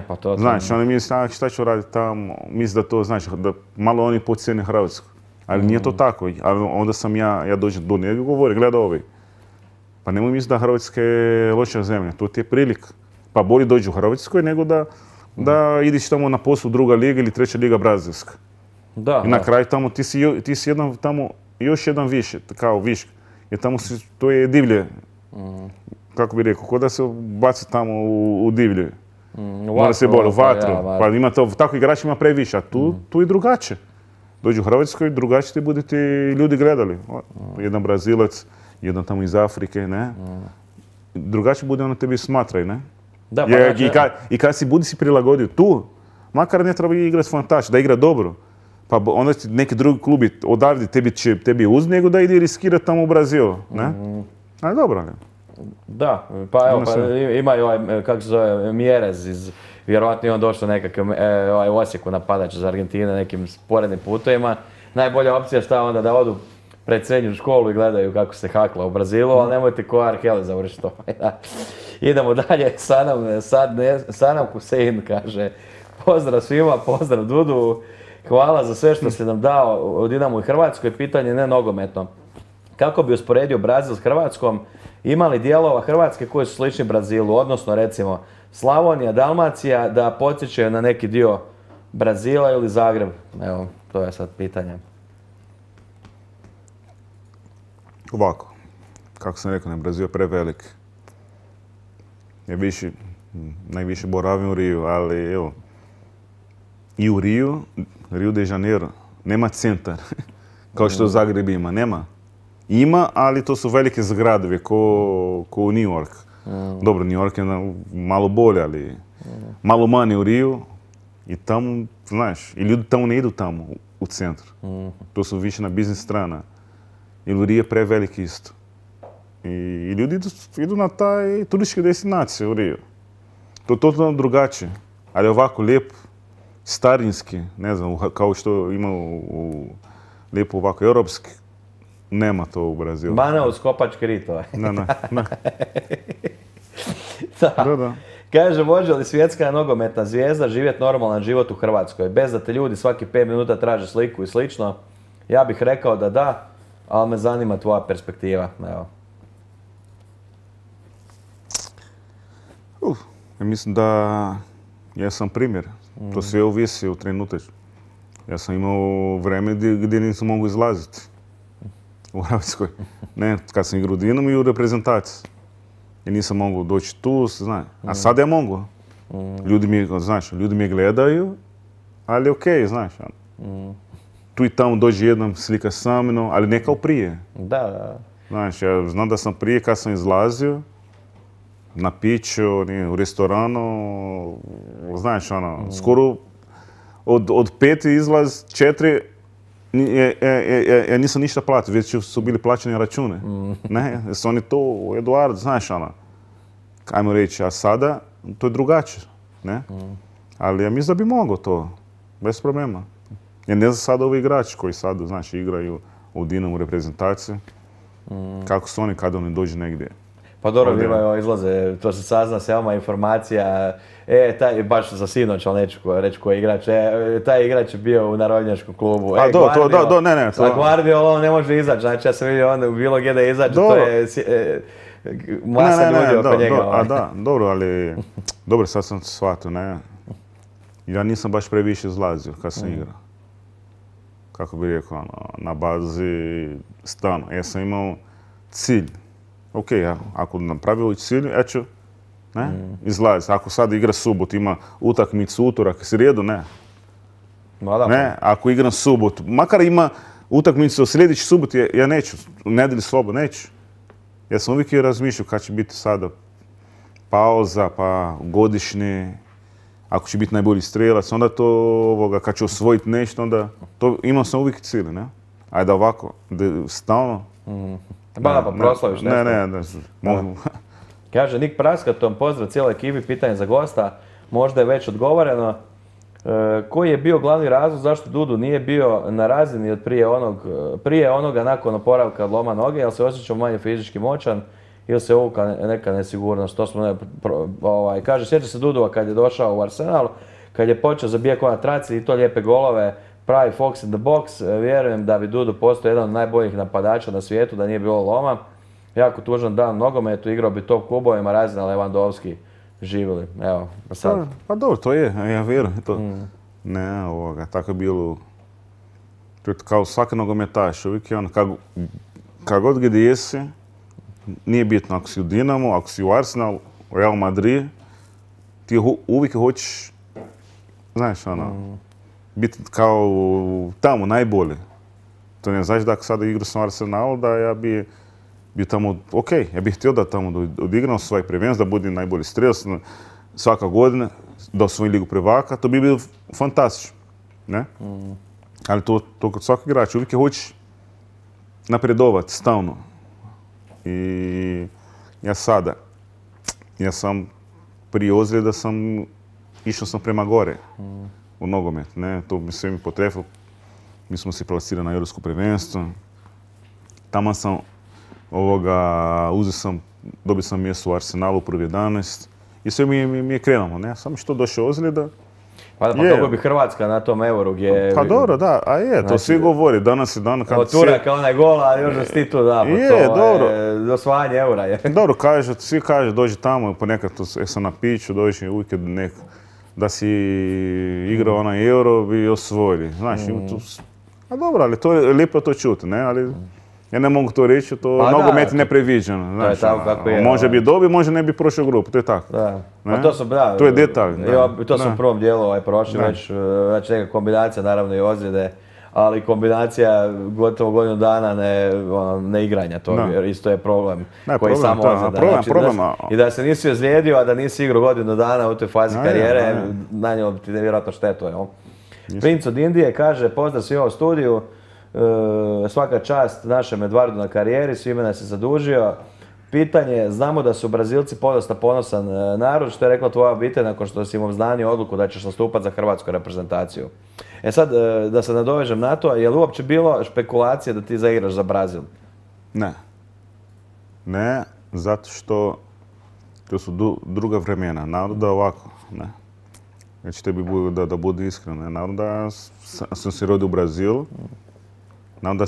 Pa to... Znači, oni misle, šta ću raditi tamo, misle da to znači, da malo oni pocijene Hrvatsku. Ali nije to tako, ali onda sam ja dođem do njega i govorim, gleda ovaj. Pa nemoj misliti da Hrvatska je loša zemlja, to ti je prilika. Pa bolje dođi u Hrvatskoj nego da ideš tamo na poslu druga liga ili treća liga brazilska. I na kraju tamo ti si jedan tamo još jedan više, kao višk. Jer tamo to je divlje, kako bi rekao, ko da se baci tamo u divlje. Mora se bolje, u vatru. Pa ima to, tako igrač ima previše, a tu i drugačije. Dođu u Hrvatskoj, drugačije ti budete ljudi gledali. Jedan Brazilac, jedan tamo iz Afrike, ne? Drugačije bude ono tebi smatraju, ne? Da, I kad si budi si prilagodio tu, makar ne treba igrati fantastično, da igra dobro. Pa onda neki drugi klubi odavde tebi uz nego da ide riskirati tamo u Brazilu, ne? Ali dobro, ne? Da, pa evo, ima i ovaj, kako se zove, Mjerez iz, vjerojatno je on došao nekakav u Osijeku napadač iz Argentine nekim sporednim putovima. Najbolja opcija šta onda da odu pred srednju školu i gledaju kako se hakla u Brazilu, ali nemojte ko Arkeli završiti to. Idemo dalje, Sanam Husein kaže, pozdrav svima, pozdrav Dudu, hvala za sve što ste nam dao u Dinamu i Hrvatskoj, pitanje ne nogometno. Kako bi usporedio Brazil s Hrvatskom, imali dijelova Hrvatske koji su slični Brazilu, odnosno recimo Slavonija, Dalmacija, da podsjećaju na neki dio Brazila ili Zagreb? Evo, to je sad pitanje. Ovako, kako sam rekao, Brazil je prevelik. Ja najviše boravim u Riju, ali evo, i u Rio de Janeiro, nema centar, kao što Zagreb ima, nema. Ima, ali to su velike zgradovi, ko u New York. Dobro, New York je malo bolje, ali malo manje u Riju. I tamo, znaš, i ljudi tamo ne idu tamo, u centru. To su više na biznis strana. Jer u Riju je preveliki isto. I ljudi idu na taj turističke destinacije u Riju. To je totalno drugačije. Ali ovako lijep, starinski, ne znam, kao što ima lijepo ovako europski. Nema to u Brazilu. Mana uz kopačke ritove. Ne. Da. Kaže, može li svjetska nogometna zvijezda živjeti normalan život u Hrvatskoj? Bez da te ljudi svaki 5 minuta traže sliku i slično. Ja bih rekao da, ali me zanima tvoja perspektiva. Evo. Ja mislim da ja sam primjer. To sve ovisi u trenutak. Ja sam imao vreme gdje nisam mogu izlaziti u Hrvatskoj. Ne, kad sam igrao u Dinamu i u reprezentaciji. I nisam mogu doći tu, znaš. A sad ja mogu. Ljudi mi gledaju, ali okej, znaš. Tu i tamo dođe jednom slika sa mnom, ali ne kao prije. Da. Znaš, ja znam da sam prije kad sam izlazio, na piću, u restoranu, znaš, ono, skoro od 5 izlaz 4, ja nisam ništa platio, već su bili plaćeni račune. Ne, su oni to, Eduard, znaš, ono, ajmo reći, a sada to je drugačije, ne? Ali ja mislim da bi mogao to, bez problema. Ja ne znam sada ovi igrači koji sad, znaš, igraju u Dinamu reprezentaciji, kako su oni kada oni dođu negdje. Pa dobro, imaju izlaze, to se sazna sama informacija, baš za sinoć, ali neću reći koji je igrač, taj igrač je bio u narodnjačkom klubu. A ne. A Guardiola on ne može izaći, znači ja sam vidio onda u bilo gdje da izađe, to je masa ljudi oko njega. A da, dobro, ali, dobro, sad sam shvatio, ne. Ja nisam baš previše izlazio kad sam igrao. Kako bi rekao, na bazi stanu. Ja sam imao cilj. Ok, ako napravio cilj, ja ću izlaziti. Ako sad igra subot, ima utakmicu, utorak, srijedu, ne. Ne, ako igram subot, makar ima utakmicu u sljedeći subot, ja neću, u nedjelju slobodno, neću. Ja sam uvijek razmišljao kad će biti sada pauza, pa godišnje, ako će biti najbolji strelac, onda to, kad ću osvojiti nešto, onda to imao sam uvijek cilj, ne? Ajde ovako, stalno. Pa proslaviš nešto. Ne. Kaže Nik Praskatom, pozdrav cijeloj ekipi, pitanje za gosta, možda je već odgovoreno. Koji je bio glavni razlog zašto Dudu nije bio na razini od prije onoga nakon oporavka od loma noge, jel se osjećao manje fizički moćan ili se uvukla neka nesigurnost? To smo, kaže, sjeća se Dudova kad je došao u Arsenal, kad je počeo zabijati na traci i to lijepe golove, pravi Fox in the box, vjerujem da bi Dudu postao jedan od najboljih napadača na svijetu, da nije bilo loma. Jako tužan dan nogometu, igrao bi top klubovima, razina Lewandowski živjeli. Evo, pa sad. Pa dobro, to je, ja vjerujem to. Ne, tako je bilo, kao svaki nogometaš, uvijek je ono, kad god gdje jesi, nije bitno ako si u Dinamo, ako si u Arsenal, u Real Madrid, ti uvijek hoćeš, znaš, ono, biti kao tamo najbolji. To ne znači da ako sada igram sam u Arsenalu, da ja bi bio tamo, ok, ja bih htio da tamo odigram svoj prvenstvo, da budem najbolji strelac svaka godina, da osvojim ligu prvaka, to bi bilo fantastično, ne? Ali to kod svakog igrača, uvijek hoćeš napredovati stalno. I ja sam prije ozljeda išao sam prema gore u nogomet, ne? To mi sve mi potrefilo. Mi smo se plasirali na europsko prvenstvo. Tamo sam dobio sam mjesto u Arsenalu u prvi 11 i sve mi je krenulo, ne? Samo što došao ozljeda. Pa dobro bi Hrvatska na tom Euro gdje... Pa dobro, da, a je, to svi govori, danas je dan kad... Od Turaka onaj gol, ali još da si tu da, osvajanje Eura je. Dobro, svi kažu, dođi tamo, ponekad sam na piću, dođi uvijek da si igrao onaj Euro bi osvojili, znaš, a dobro, ali to je lijepo to čuti, ne, ali... Ja ne mogu to reći, nogomet je nepreviđeno. To je tako kako je. Može bi dobio, može ne bi prošao grupu, to je tako. Da. Pa to su, da. To je detalj. To su u prvom dijelu prošli već, znači neka kombinacija, naravno i ozljede, ali kombinacija gotovo godinu dana ne igranja, to isto je problem koji samo ozljeda. I da se nisi ozlijedio, a da nisi igrao godinu dana u toj fazi karijere, nanijelo bi ti nevjerojatno štetu, jel? Princ od Indije kaže, pozdrav svi u studiju. Svaka čast našem Edvardu na karijeri, svime nas je zadužio. Pitanje, znamo da su Brazilci podosta ponosan narod, što je rekla tvoja obitelj nakon što si im obznanio odluku da ćeš nastupati za hrvatsku reprezentaciju. Sad, da se nadovežem na to, je li uopće bilo špekulacije da ti zaigraš za Brazil? Ne. Ne, zato što to su druga vremena. Naravno da ovako, ne. Znači, tebi da budu iskreno. Naravno da sam se rodio u Brazilu. Naravno da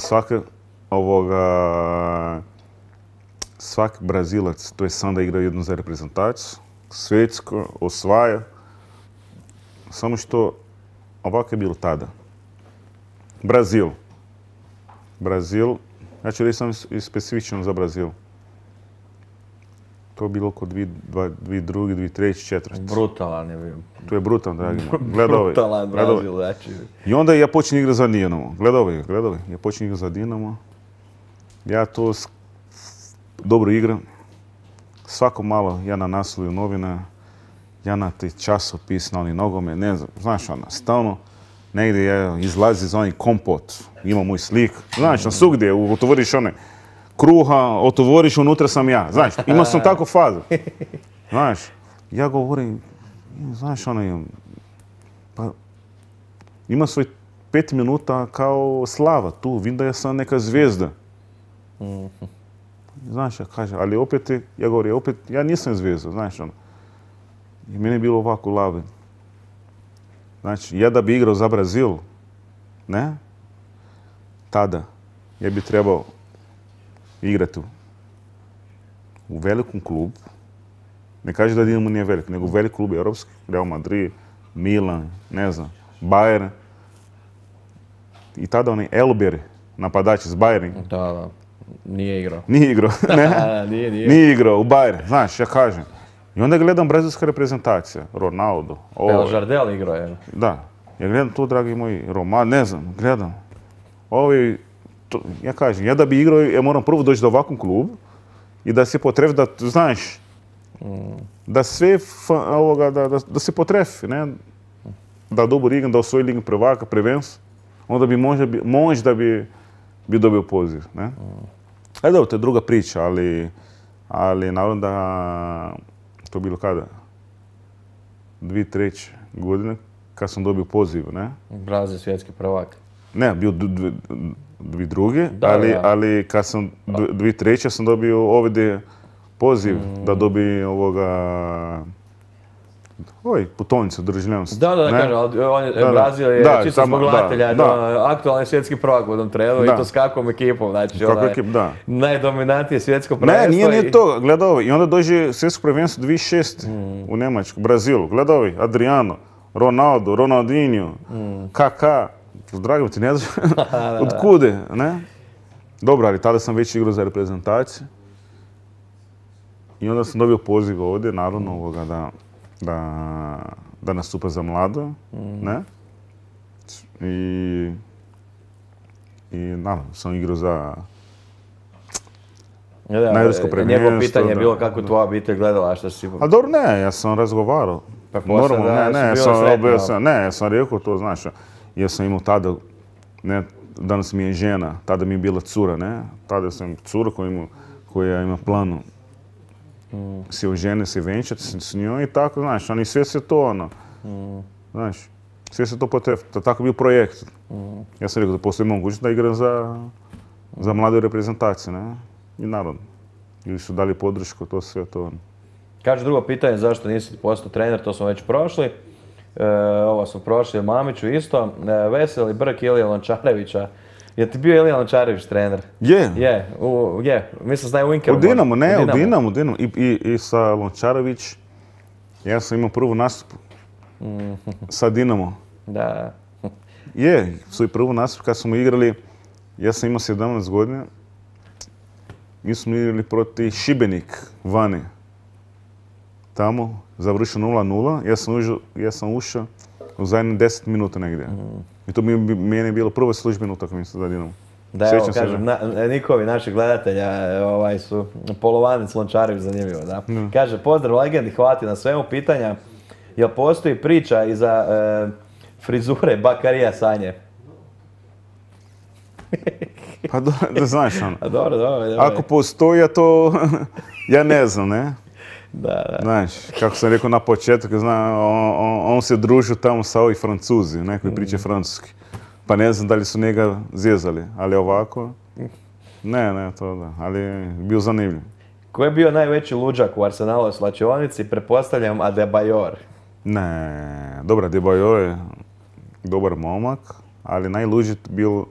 svaki Brazilac, to je sam da igra jednu za reprezentaciju, svjetsko, osvaja. Samo što ovako je bilo tada. Brazil, ja ću reći sam i specifično za Brazil. To je bilo oko 2002, 2003, 2004. Brutalan je bio. To je brutalan, dragi moj. Brutalan Brazil, znači. I onda ja počnem igrati za Dinamo. Gledaj. Ja počnem igrati za Dinamo. Ja to dobro igram. svako malo ja na naslovu novina, ja na ti časopis, na oni nogome, ne znam, znaš ono, stalno negdje izlazi iz onih kompot, ima moj slik, znaš, na svugdje, otvoriš one kruha, otvoriš, unutra sam ja, znaš, imao sam takvu fazu, znaš, ja govorim, znaš, ono, pa ima svoj 5 minuta kao slava tu, vidim da ja sam neka zvijezda. Znaš, ja kažem, ali opet, ja govorim, opet, ja nisam zvijezda, znaš, ono. I meni je bilo ovako laven. Znači, ja da bi igrao za Brazil, ne, tada, ja bi trebao igrati u velikom klubu. Ne kaže da Dinamo nije velik, nego u velik klub europski, Real Madrid, Milan, ne znam, Bayern. I tada onaj Elber, napadač iz Bayern. Da, nije igrao. Nije igrao, ne? Nije. Nije igrao u Bayern, znaš, ja kažem. I onda gledam brazilska reprezentacija, Ronaldo. Evo, Jardel igrao je. Da, ja gledam tu, dragi moji, Roman, ne znam, gledam. Ja kažem, ja da bi igrao, ja moram prvo doći do ovakvom klubu i da se potrefi, da, znaš, da sve da se potrefi, ne? Da dobro igram, da osvoji Ligu prvaka, prvenstvo, onda bi možda bi dobio poziv, ne? Ali dobro, to je druga priča, ali naravno da to bilo kada? 2003. godine kad sam dobio poziv, ne? Brazil svjetski prvak. Ne, bio 2002. Ali kad sam 2003. sam dobio ovdje poziv da dobi putovnicu državljanstva. Da, kažem, Brazil je čisto zbog gledatelja, aktualni svjetski prvak u jednom trenu i to s kakvom ekipom, znači najdominantnije svjetsko prvenstvo. Ne, nije to, gledaj i onda dođe svjetsko prvenstvo 2006. U Njemačku, Brazilu, gledaj, Adriano, Ronaldo, Ronaldinho, Kaká, dragi ti ne znaš od kude, ne? Dobro, ali tada sam već igrao za reprezentaciju i onda sam dobio poziv ovdje, naravno da nastupa za mlado, ne? I naravno sam igrao za na europsko prvenstvo. Njegovo pitanje je bilo kako tvoja obitelj gledala, što si... A dobro, ne, ja sam razgovarao. Pa posle da su bilo sretni. Ne, ja sam rekao to, znaš, ja sam imao tada, ne, danas mi je žena, tada mi je bila cura, ne? Tada sam cura koja ima planu se ožene, se venčati s njoj i tako, znaš, oni sve se to, ono, znaš, sve se to potrefi, tako bio projekt. Ja sam rekao da postoji mogućnost da igram za mlade reprezentacije, ne? I naravno, ili su dali podršku, to sve to, ono. Kaže drugo pitanje, zašto nisi postao trener, to smo već prošli. Ovo smo prošli, Mamiću isto. Veseli Brk Ilija Lončarevića. Je ti bio Ilija Lončarević trener? Je. Je. Mislim da je u Inkeru. U Dinamo. I sa Lončarević, ja sam imao prvu nastup sa Dinamo. Da. Je, svoj prvu nastup kad smo igrali, ja sam imao 17 godina. Mi smo igrali proti Šibenik vani. Tamo, završio 0-0, ja sam ušao u zadnjih 10 minuta negdje. I to meni je bilo prva službena utakmica za Dinamo. Da, evo, kažem, Nikovi, naši gledatelja, su Polovanec Lončarević, zanimljivo, da. Kaže, pozdrav legendi, hvala ti na svemu pitanja. Jel postoji priča iza frizure Bakarija Sanje? Pa da znaš ono. Dobro. Ako postoji, ja ne znam, ne? Da. Znaš, kako sam rekao na početku, on se družio tamo sa ovi Francuzi, koji priča francuski. Pa ne znam da li su njega zjezali, ali ovako, ne, to da, ali bio zanimljiv. Ko je bio najveći luđak u Arsenalovoj slačionici? Pretpostavljam Adebayor. Ne, dobro, Adebayor je dobar momak, ali najluđi bio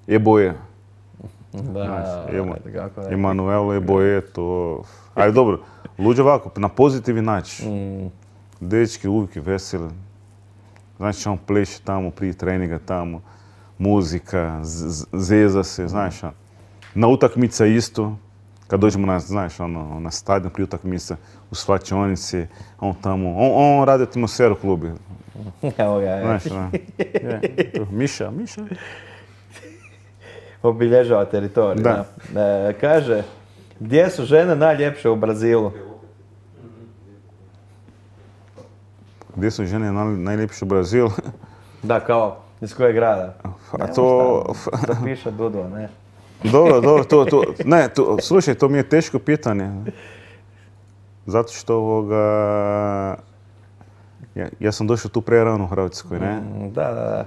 Eboje. Da, Emanuel Eboje, to... Ali dobro, luđe ovako, na pozitivni način. Dečki uvijek veseli. Znači, on pleše tamo prije treninga tamo, muzika, zeza se, znaš. Na utakmica isto, kad dođemo na stadion prije utakmica, u svačionici, on tamo, on radi atmosferu klubi. Evo ga, znaš, Miša. Obilježava teritorij. Da. Kaže, gdje su žene najljepše u Brazilu? gdje su žene najljepše u Brazilu. Da, kao, iz kojeg grada? A to... To piše Dudo, ne? Dobro, slušaj, to mi je teško pitanje. Zato što ja sam došao tu prerano u Hrvatskoj, ne? Da.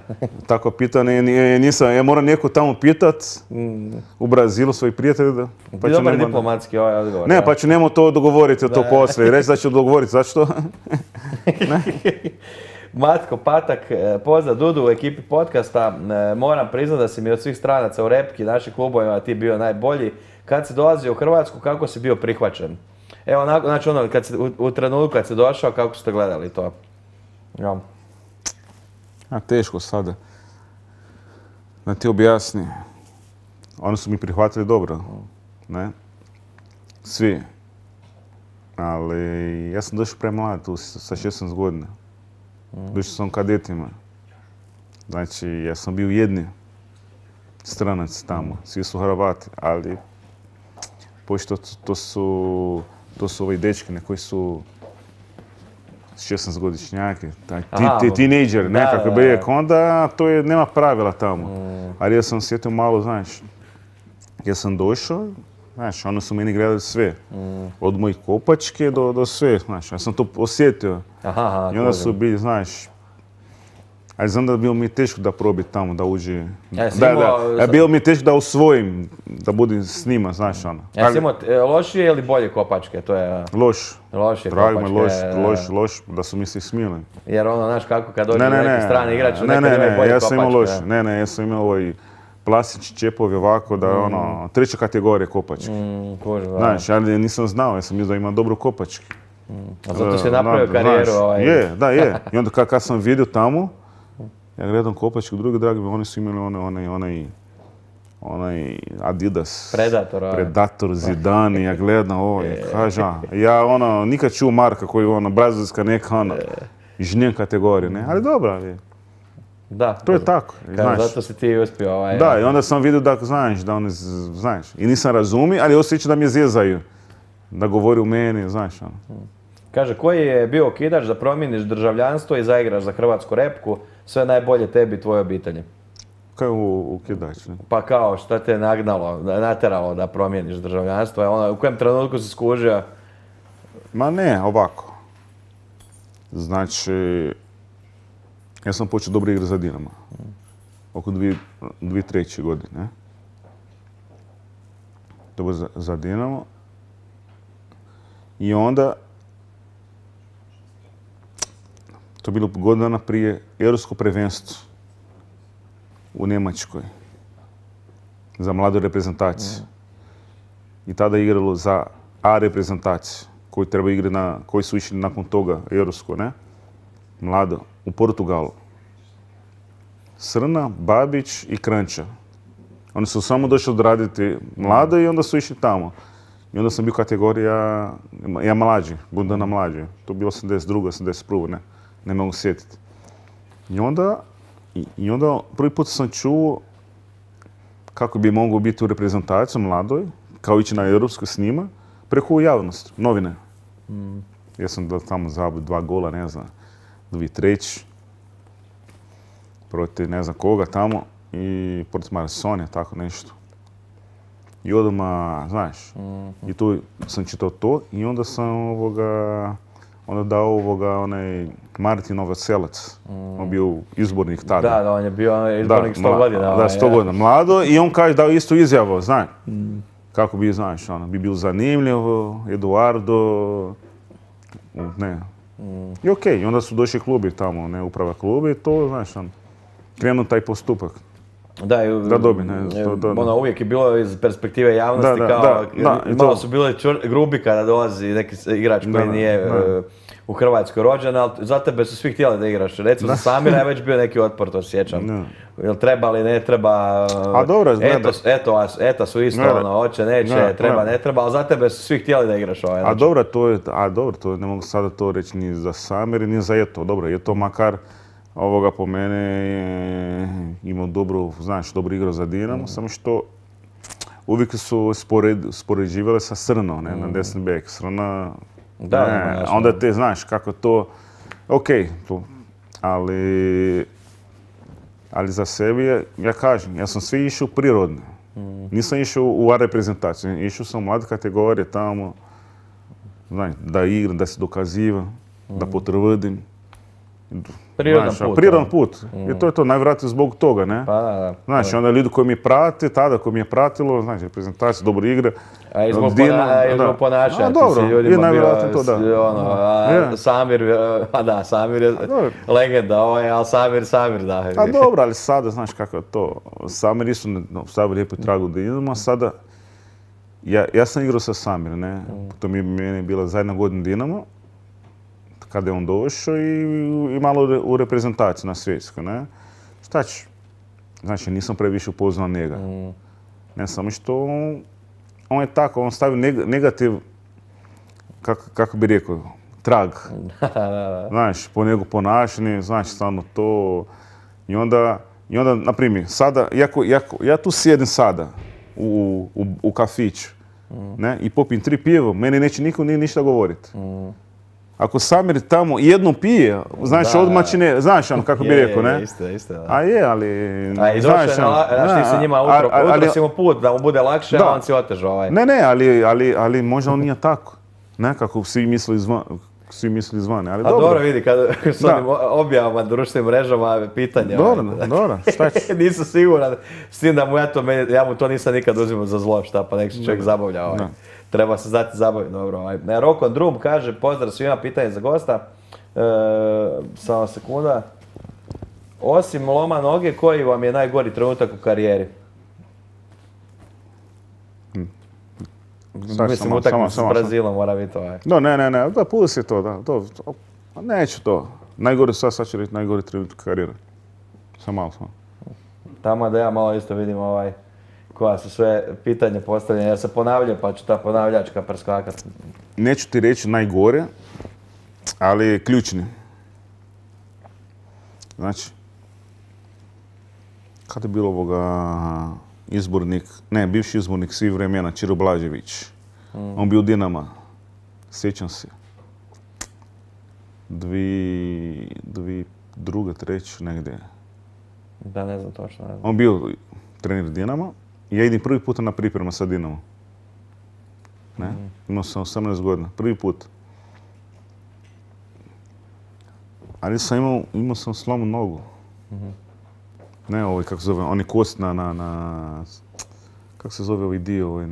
Tako pitanje nisam, ja moram neko tamo pitat u Brazilu, svoji prijatelji. Ti dobar diplomatski ovaj odgovor. Ne, pa ću nemo to dogovoriti to poslije, reći da ću dogovoriti, zašto? Matko Patak, pozdrav Dudu u ekipi podcasta. Moram priznati da si mi od svih stranaca u repki, naših klubovima, ti bio najbolji. Kad si dolazio u Hrvatsku, kako si bio prihvaćen? Evo, znači u trenutku kad si došao, kako ste gledali to? Ja. Teško sada. Da ti objasni. Oni su mi prihvatili dobro, ne? Svi. Ali ja sam došao premlad tu sa 16 godina. Došao sam kadetima. Znači, ja sam bio jedni stranac tamo. Svi su Hrvati, ali pošto to su ovi dečki koji su 16-godišnjaki, tinejdžeri, nekako bi rekao, onda to nema pravila tamo. Ali ja sam sjetio malo, znaš, ja sam došao, znaš, oni su meni gledali sve. Od mojih kopačke do sve, znaš, ja sam to osjetio. I onda su bili, znaš, ali znam da je bilo mi teško da probi tamo, da uđe. Bilo mi teško da usvojim, da budem s njima, znaš ono. Jesi imao lošije ili bolje kopačke? To je... Loš. Lošije Dragi kopačke. loš, da su mi se smili. Jer ono, znaš kako, kad dođe neki strani igrač, nekad imaju bolje kopačke. Ja sam imao loš. Ja sam imao ovaj plastični čepovi ovako, da je ono, treća kategorija kopačke. Znaš, ali nisam znao, ja sam mislio da ima dobru kopačke. A zato si napravio karijeru ovaj... Je. I onda kad sam vidio tamo, ja gledam kopačku, drugi dragi, oni su imali onaj Adidas. Predator, Zidane, ja gledam ovo i kažem, ja nikad čuo marka koji brazilska neka žnjen kategorija, ne? Ali dobro, ali da. To je tako, znaš. Zato si ti uspio ovaj... Da, i onda sam vidio da, znaš, i nisam razumio, ali osjećam da mi zezaju, da govori u meni, znaš. Kaže, koji je bio okidač da promijeniš državljanstvo i zaigraš za hrvatsku repku, sve najbolje tebi i tvojoj obitelji? Kaj je okidač? Pa kao, šta te nateralo da promijeniš državljanstvo? U kojem trenutku si skužio? Ma ne, ovako. Znači, ja sam počeo dobro igrati za Dinamo. Oko 2003. godine. Dobro za Dinamo. I onda, to je bilo godinu dana prije Europsko prvenstvo u Njemačkoj za mladu reprezentaciju. I tada je igralo za A reprezentaciju koji su išli nakon toga Europsko, ne? Mlado, u Portugalu. Srna, Babić i Kranjča. Oni su samo došli odraditi mlado i onda su išli tamo. I onda sam bio kategorija, ja mlađi, godinu dana mlađi. To je bilo 82. 81. Ne mogu sjetiti. I onda prvi put sam čuo kako bi mogao biti u reprezentaciji mladoj, kao ići na europsku s njima, preko javnosti, novine. Ja sam tamo zabio 2 gola, ne znam, 2003. Protiv ne znam koga tamo i protiv Marsonija, tako nešto. I odmah, znaš, i tu sam čitao to i onda sam onda dao onaj Martin Novoselac. On bio izbornik tada. Da, on je bio izbornik 100 godina. Da, 100 godina. Mlado i on kaže dao istu izjavu, znaš. Kako bi, znaš, bi bio zanimljiv, Eduardo, ne. I okej, onda su došli klubi tamo, ne, uprava klubi i to, znaš, krenuo taj postupak. Da dobi, ne. Uvijek je bilo iz perspektive javnosti kao, malo su bile grubi kada dolazi neki igrač koji nije u Hrvatskoj rođen, ali za tebe su svi htjeli da igraš. Recimo za Samira je već bio neki otpor, to sjećam. Jel treba li, ne treba, eto su isto, hoće, neće, treba, ne treba, ali za tebe su svi htjeli da igraš ovaj. A dobro, to ne mogu sada to reći ni za Samir, ni za Eto. Dobro, Eto makar po mene je imao dobru igru za Dinamo, samo što uvijek su spoređivali sa Srnom, na desni bek. Srna, onda te znaš kako to, ok, ali za sebe, ja kažem, ja sam svi išao prirodno. Nisam išao u A reprezentaciju, išao sam u mlade kategorije tamo, da igram, da se dokaziva, da potvrdim. Prirodan put. I to je to, najvjerojatnije zbog toga, ne? Pa da. Znači, onda ljudi koji mi prate, tada koji mi je pratilo, znači, reprezentacija, dobro igre. A i zbog ponašanja, ti si ljudima bio, Samir je legenda, ali Samir, da. A dobro, ali sada, znaš kako je to, Samir isto stavio lijepo tragu Dinamo, sada, ja sam igrao sa Samirom, ne? To meni je bila zadnja godina Dinamo, kada je on došao i malo u reprezentaciji na svjetskoj, ne? Šta ću? Znači, nisam previše upoznao njega. Ne samo što on je tako, on stavi negativ, kako bi rekao, trag. Znaš, po njegu ponašanje, znači, stvarno to. I onda, na primjer, sada, ja tu sjedim sada u kafiću, ne? I popim 3 piva, meni neće niko ništa govoriti. Ako Samir tamo jednom pije, znači odmah će ne, znaš ono kako bi rekao, ne? Isto, da. A je, ali... A i došao je, znaš ti se njima utro si mu put, da mu bude lakše, a on si otežao ovaj. Ne, ali možda on nije tako, ne, kako svi misli izvane, ali dobro. A dobro vidi, kad s onim objavama, društvenim mrežama, pitanja. Dobro, šta će? Nisam siguran, s tim da mu ja mu to nisam nikad uzimao za zlo, šta pa nek se čovjek zabavlja ovaj. Treba se znati zabaviti, dobro. Roko Drum kaže, pozdrav svima, pitanje za gosta. Samo sekunda. Osim loma noge, koji vam je najgori trenutak u karijeri? Mislim, utakmica s Brazilom mora biti ovaj. Ne, da pusti to, da. Neću to. Najgori, sad ću reći najgori trenutak u karijeri. Samo. Tamo da ja malo isto vidim koja su sve pitanje postavljene, jer se ponavljaju, pa ću ta ponavljačka preskakat. Neću ti reći najgore, ali ključni. Znači, kada je bilo bivši izbornik svih vremena, Čiro Blažević. On bio u Dinama, sjećam se. 2002. negdje. Da, ne znam točno. On bio trener Dinama. Ja idem prvi put na priprema sa Dinamom. Imao sam 18 godina, prvi put. Ali imao sam slomu nogu. Ne, kako se zove, on je kost kako se zove ovaj dio,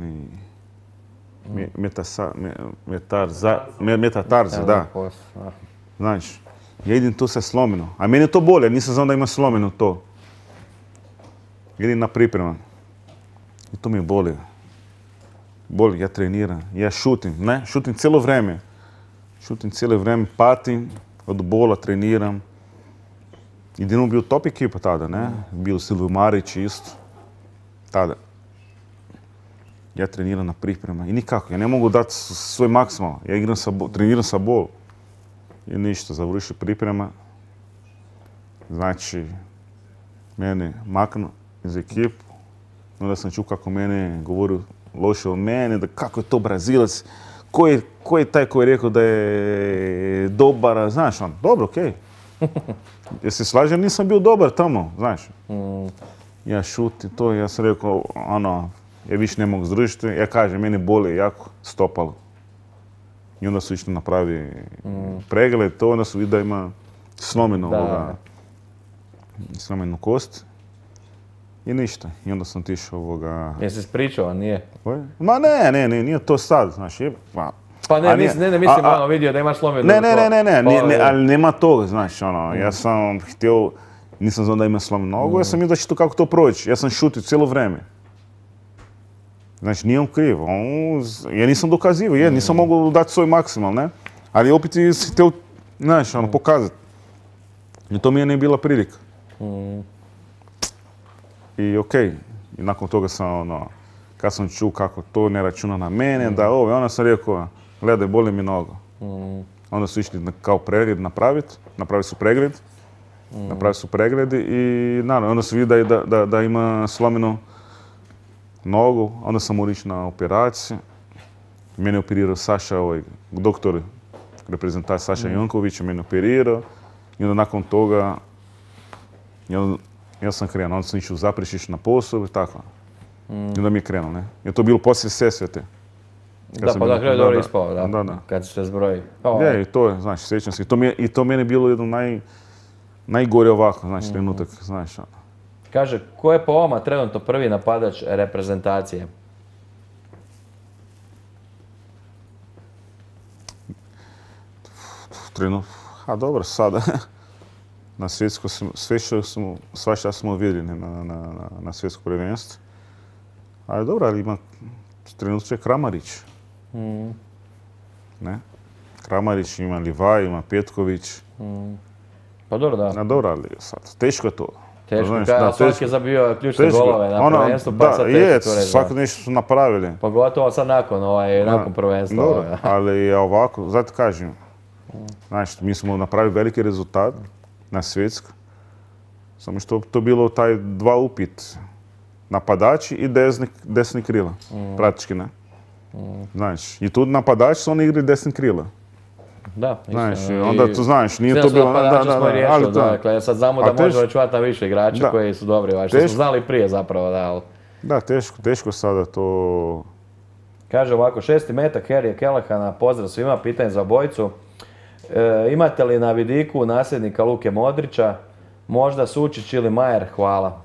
metatarza, da. Znaš, ja idem tu sa slomino, a meni je to bolje, nisam znao da ima slomino to. Idem na priprema. I to mi je boli. Boli, ja treniram, ja šutim cijelo vrijeme. Patim, od bola treniram. I Dinamo bio top ekipa tada, ne? Bio Silvio Marić isto. Tada. Ja treniram na priprema i nikako, ja ne mogu dati svoj maksimal. Ja treniram sa bol. I ništa, završi priprema. Znači, mene maknu iz ekipu. Onda sam čuo kako mene govorio loše o mene, da kako je to Brazilac, ko je taj koji je rekao da je dobar, znaš, dobro, okej. Jer se slažem, nisam bio dobar tamo, znaš. Ja šutim to, ja sam rekao, ja više ne mogu zdržiti, ja kažem, meni boli jako stopalo. I onda su išli napravi pregled, to onda su vidjeli da ima slomenu kost. I ništa. I onda sam tišao Jesi ispričao, a nije? Ma ne, nije to sad, znaš. Pa ne mislim, vidio da imaš slomenu. Ne, ali nema toga, znaš, ja sam htio, nisam znao da ima slomenu nogu, ja sam mislio da će to kako to proći. Ja sam šutio cijelo vrijeme. Znači, nije on kriv. Ja nisam dokazivao, nisam mogao dati svoj maksimal, ne? Ali opet si htio, znaš, pokazati. I to mi je ne bila prilika. I okej, i nakon toga sam, kad sam čuo kako to ne računa na mene, onda sam rekao, gledaj, boli mi noga. Onda su išli kao pregled napravili su pregled i naravno, onda su vidjeli da ima slomenu nogu, onda sam morao ići na operaciju. Mene je operirao Saša, doktor reprezentacije Saša Janković, mene operirao i onda nakon toga ja sam krenuo, onda sam išao u Zaprešić na posao i tako. I onda mi je krenuo, ne. Je to bilo poslije Sesvete. Da, pa na kraju dobro ispao, da, kad se zbroji. Je, i to je, znaš, sjećam se. I to meni je bilo jedno najgore ovako, znači, trenutak, znaš. Kaže, ko je po vama trenutno prvi napadač reprezentacije? Dobro, sada. Na svjetsko, svašta smo vidjeli na svjetsko prvenstvo. Ali dobro, ali ima trenutno Kramarić. Ne? Kramarić, ima Livaj, ima Petković. Pa dobro, da. Dobro, ali sad, teško je to. Teško, svaki je zabio ključne golove na prvenstvu, pa sad teško to reći. Svako nešto su napravili. Pogotovo sad nakon prvenstva. Dobro, ali ovako, zato kažem, znači, mi smo napravili veliki rezultat na svjetsku, samo što to bilo taj dva upit, napadači i desni krila, praktički, ne. Znači, i tu napadači su oni igri desni krila. Da, znači, onda tu znaš, nije to bilo... Dakle, sad znamo da možemo računati na više igrača koji su dobri, što smo znali prije zapravo, da. Da, teško sada to... Kaže ovako, 6. metak Harryja Kelehana, pozdrav svima, pitanje za obojicu. Imate li na vidiku nasljednika Luke Modrića, možda Sučić ili Majer? Hvala.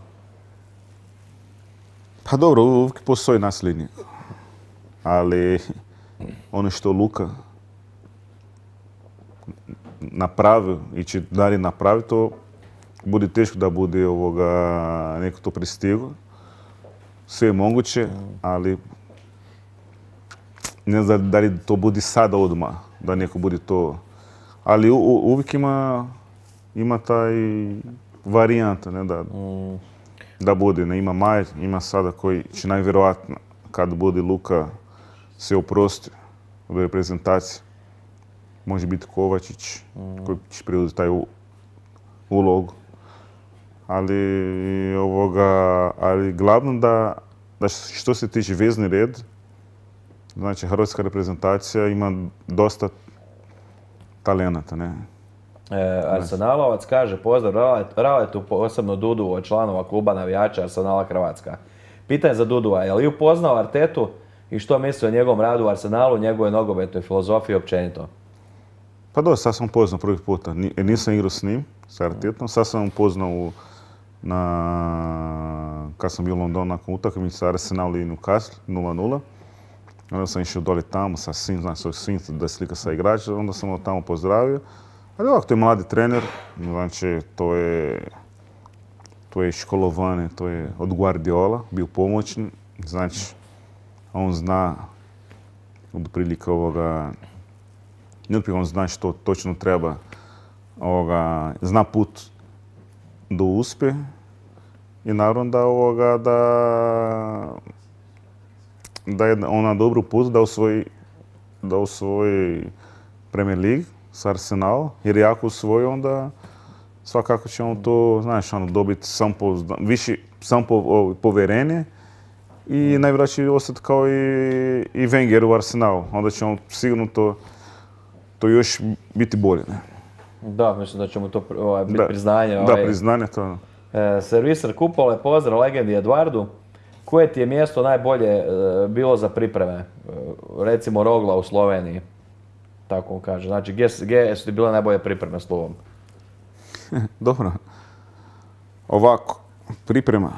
Pa dobro, uvijek postoji nasljednik. Ali ono što Luka napravio i će dalje napraviti, to bude teško da bude neko to pristigo. Sve je moguće, ali ne znam da li to bude sada odmah, da neko bude to. Ali uvijek ima taj varijanta, ne, da bude. Ne, ima Majer, ima sada koji će najvjerojatno, kad bude Luka se oprosti od reprezentacije, može biti Kovačić koji će preuzeti taj ulogu. Ali glavno da što se tiče vezni red, znači hrvatska reprezentacija ima dosta talenata, ne. Arsenalovac kaže, pozdrav Raletu, posebno Dudu od članova kluba navijača Arsenala Hrvatska. Pitanje za Dudua, je li upoznao Artetu i što misli o njegovom radu u Arsenalu, njegove nogometnoj filozofiji općenito? Pa dobro, sad sam upoznao prvi puta. Nisam igrao s njim, s Artetom. Sad sam upoznao kad sam bio u Londonu nakon utakmice sa Arsenal i Newcastle 0-0. Onda sam išao dole tamo sa svim, znači svim da slika sa igrača, onda sam ga tamo pozdravio. Ali ovako, to je mladi trener, znači to je školovanje, to je od Guardiola, bio pomoćni, znači on zna od prilike on zna što točno treba, zna put do uspjeha i naravno da je on na dobru put da osvoji Premier League s Arsenalom, jer ako osvoji onda svakako će on to, znaš, dobiti više povjerenje i najvjerojatnije će ostati kao i Wenger u Arsenalu. Onda će on sigurno to još biti bolje. Ne? Da, mislim da će mu to biti priznanje. Da, priznanje to. Serviser Kupole, pozdrav legendi Eduardu. Koje ti je mjesto najbolje bilo za pripreme? Recimo Rogla u Sloveniji. Tako on kaže. Znači, gdje su ti bile najbolje pripreme s Lugom? Dobro. Ovako, priprema.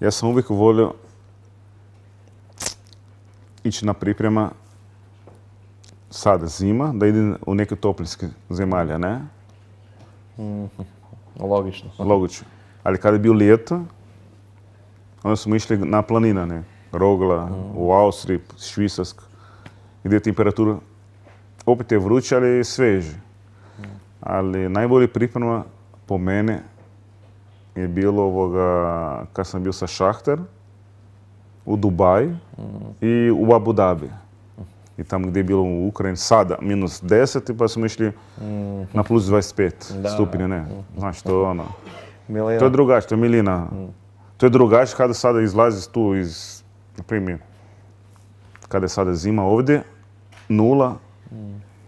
Ja sam uvijek volio ići na priprema sada zima, da idem u neke toplinske zemalja, ne? Logično. Logično. Ali kada je bio ljeto, onda smo išli na planina, ne? Rogla, u Austriji, Švicarska, gdje je temperatura opet je vruća, ali sveže. Ali najbolje priprema po mene je bilo kad sam bio sa Šahter u Dubaju i u Abu Dhabi. I tamo gdje je bilo u Ukrajini sada minus 10 pa smo išli na plus 25 stupnja, ne. Znači to je ono. To je drugačije, to je milina. To je drugačije kada sada izlazi tu iz, na primjer, kada je sada zima ovdje, 0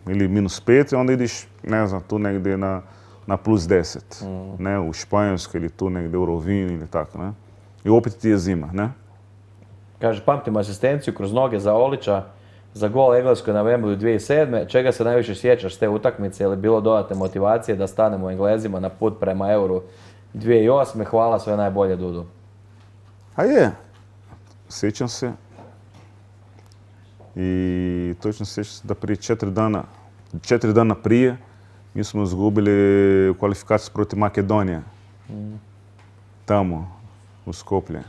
ili -5 i onda ideš, ne znam, tu negdje na +10. Ne, u Španjolskoj ili tu negdje u Rovinju ili tako, ne. I opet ti je zima, ne. Kaže, pamtim asistenciju kroz noge za Olića za gol Engleskoj na Wembley 2007. Čega se najviše sjećaš s te utakmice? Je li bilo dodatne motivacije da stanemo Englezima na put prema Euru 2008. Hvala, sve najbolje, Dudu. A je, sjećam se. I točno sjećam se da prije 4 dana prije, mi smo izgubili kvalifikaciju protiv Makedonije. Tamo, u Skoplje.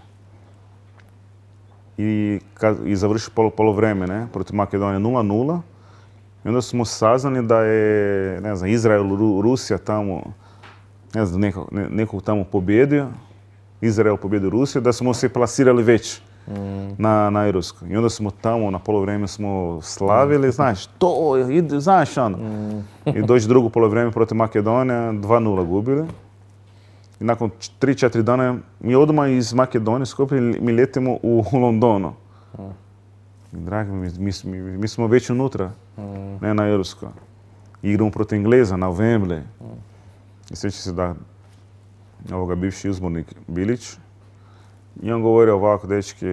I završi polovreme, ne, protiv Makedonije 0-0. I onda smo saznali da je, ne znam, Izrael, Rusija tamo, ne znam, nekog tamo pobjedio. Izrael pobjedio Rusiju, da smo se plasirali već na Europskoj. I onda smo tamo na polovreme smo slavili, znaš, to, znaš ono. I dođe drugo polovreme protiv Makedonije, 2-0 gubili. I nakon 3-4 dana mi odmah iz Makedonije mi letimo u Londonu. Dragi mi smo već unutra, ne na Europskoj. Igramo protiv Engleza na Wembley. I sjeća se da bivši uzbornik Bilić, i on govori ovako, dečki,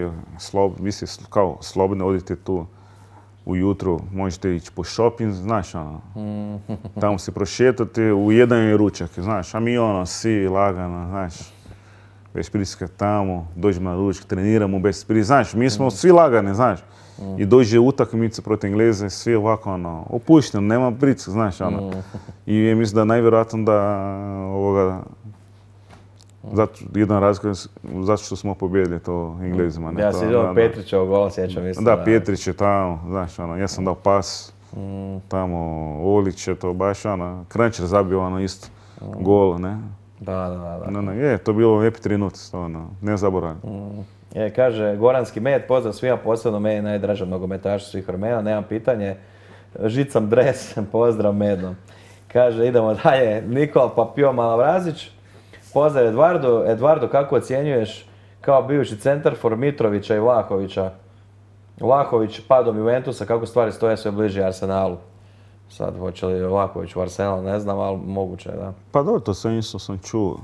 vi ste kao slobodni, odite tu ujutro, možete ići po shopping, znaš, ono, tamo se prošetati, u jedan je ručak, znaš, a mi ono, svi lagano, znaš, bez pritiska tamo, dođemo na ručak, treniramo bez pritiska, znaš, mi smo svi lagani, znaš, i dođe utakmica protiv Engleze, svi ovako, ono, opušteno, nema pritiska, znaš, ono, i mislim da najvjerojatno da jedan razlog zato što smo pobjedili to Englezima. Ja si vidio Petrićevo gola, sjećam isto. Da, Petrić je tamo, znaš, ono, ja sam dao pas, tamo Olić je to baš, ono, Kranjčar zabio ono isto gol, ne. Da. Je, to bilo lijepi trenutak, ono, ne zaboravim. Kaže, Goranski med, pozdrav svima, posebno meni najdraža nogometaša svih vremena, nemam pitanje. Žicam dres, pozdrav medom. Kaže, idemo dalje, Nikola Papio Malavrazić. Pozdrav Eduardo. Eduardo, kako ocjenjuješ kao bivši centarfor Mitrovića i Vlahovića? Vlahović padom Juventusa, kako stvari stoje sve bliže Arsenalu? Sad, hoće li Vlahović u Arsenalu, ne znam, ali moguće, da. Pa dobro, to sve isto sam čuo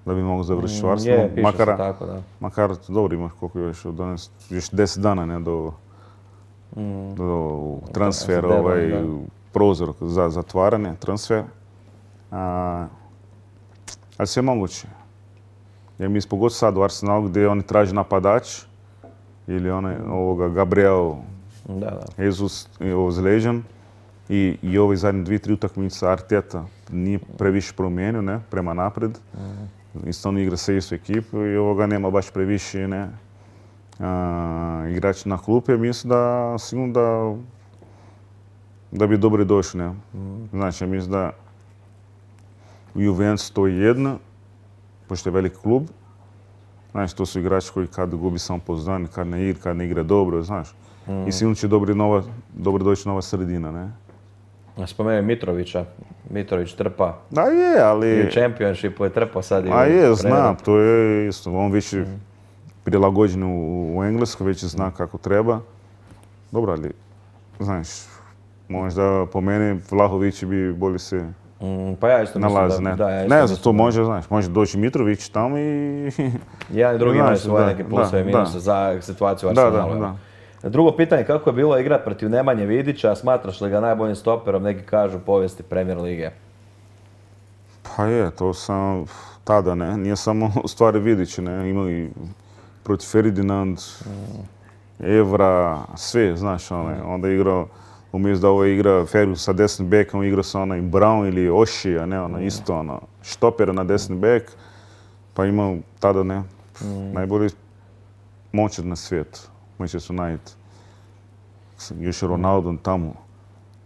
da bi mogu završiti u Arsenalu. Je, piše se tako, da. Makar, dobro, imaš koliko još, još 10 dana, ne, do transfera, prozor za zatvaranje, transfer. Ali sve moguće. Jer mi pogotovo sad u Arsenalu gdje oni traže napadač ili Gabriel Jesus je ozlijeđen i ove zadnje 2-3 utakmice Arteta nije previše promijenio, ne, prema napred. Isto on igra sa istu ekipu i nema baš previše, ne, igrači na klupi. Mislim da sigurno da bi dobro došli, ne. Znači, mislim da u Juventus to je jedno, pošto je veliki klub. Znaš, to su igrači koji kad gubi samopouzdanje, kad ne igra dobro, znaš. I sigurno će dobro doći nova sredina, ne. Spomenuo Mitrovića. Mitrović trpa. Da je, ali... I u Championshipu je trpao sad i u znam, to je isto. On već je prilagođen u Engleskoj, već zna kako treba. Dobro, ali, znaš, možda po meni Vlahović bi bolje se pa ja isto mislim da... Ne znam, to može, znaš, može doći Mitrović tamo i... Jedan i drugi imaju svoje neke plusove i minuse za situaciju u Arsenalu. Drugo pitanje, kako je bilo igrat protiv Nemanje Vidića, smatraš li ga najboljim stoperom, neki kažu, povijesti Premier lige? Pa je, to sam tada, ne, nije samo u stvari Vidić, ne, imali protiv Ferdinand, Evra, sve, znaš, onda igrao, umjesto da ovo igra Ferguson sa desnim bekom, igra sa onaj Brown ili Oshija, ne, isto, štopera na desni bek, pa imao tada, ne, najbolji momčad na svijetu. Manchester United. Još je Ronaldo tamo.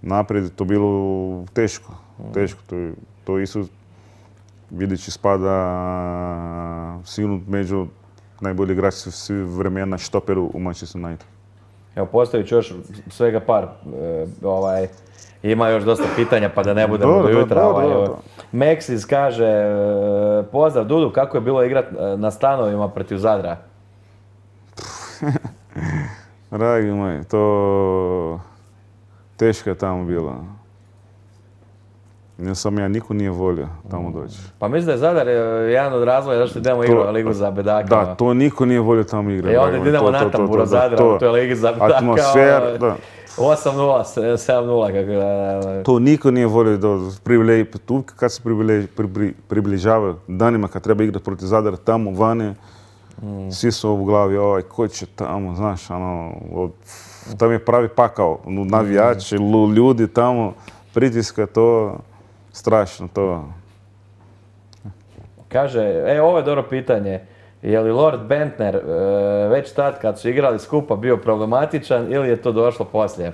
Naprijed je to bilo teško. To isto Vidić spada sigurno među najbolji igrači svih vremena štoperu u Manchester United. Evo, postavit ću još svega par. Ima još dosta pitanja pa da ne budemo do jutra. Meksis kaže, pozdrav Dudu, kako je bilo igrat na stanovima protiv Zadra? Dragi moj, to teško je tamo bilo. Niko nije volio tamo doći. Pa mislim da je Zadar jedan od razloga zašto idemo igrati Ligu za bedaka. Da, to niko nije volio tamo igrati. Onda idemo na tamburo Zadra, u toj Ligi za bedaka. Atmosfera, da. 8-0, 7-0. To niko nije volio tu kad se približavaju danima kad treba igrati protiv Zadara tamo vani, svi su u glavi, ko će tamo, znaš, tamo je pravi pakao, navijači, ljudi tamo, pritiska, to strašno, to. Kaže, ovo je dobro pitanje, je li Lord Bentner već tad kad su igrali skupa bio problematičan ili je to došlo poslije?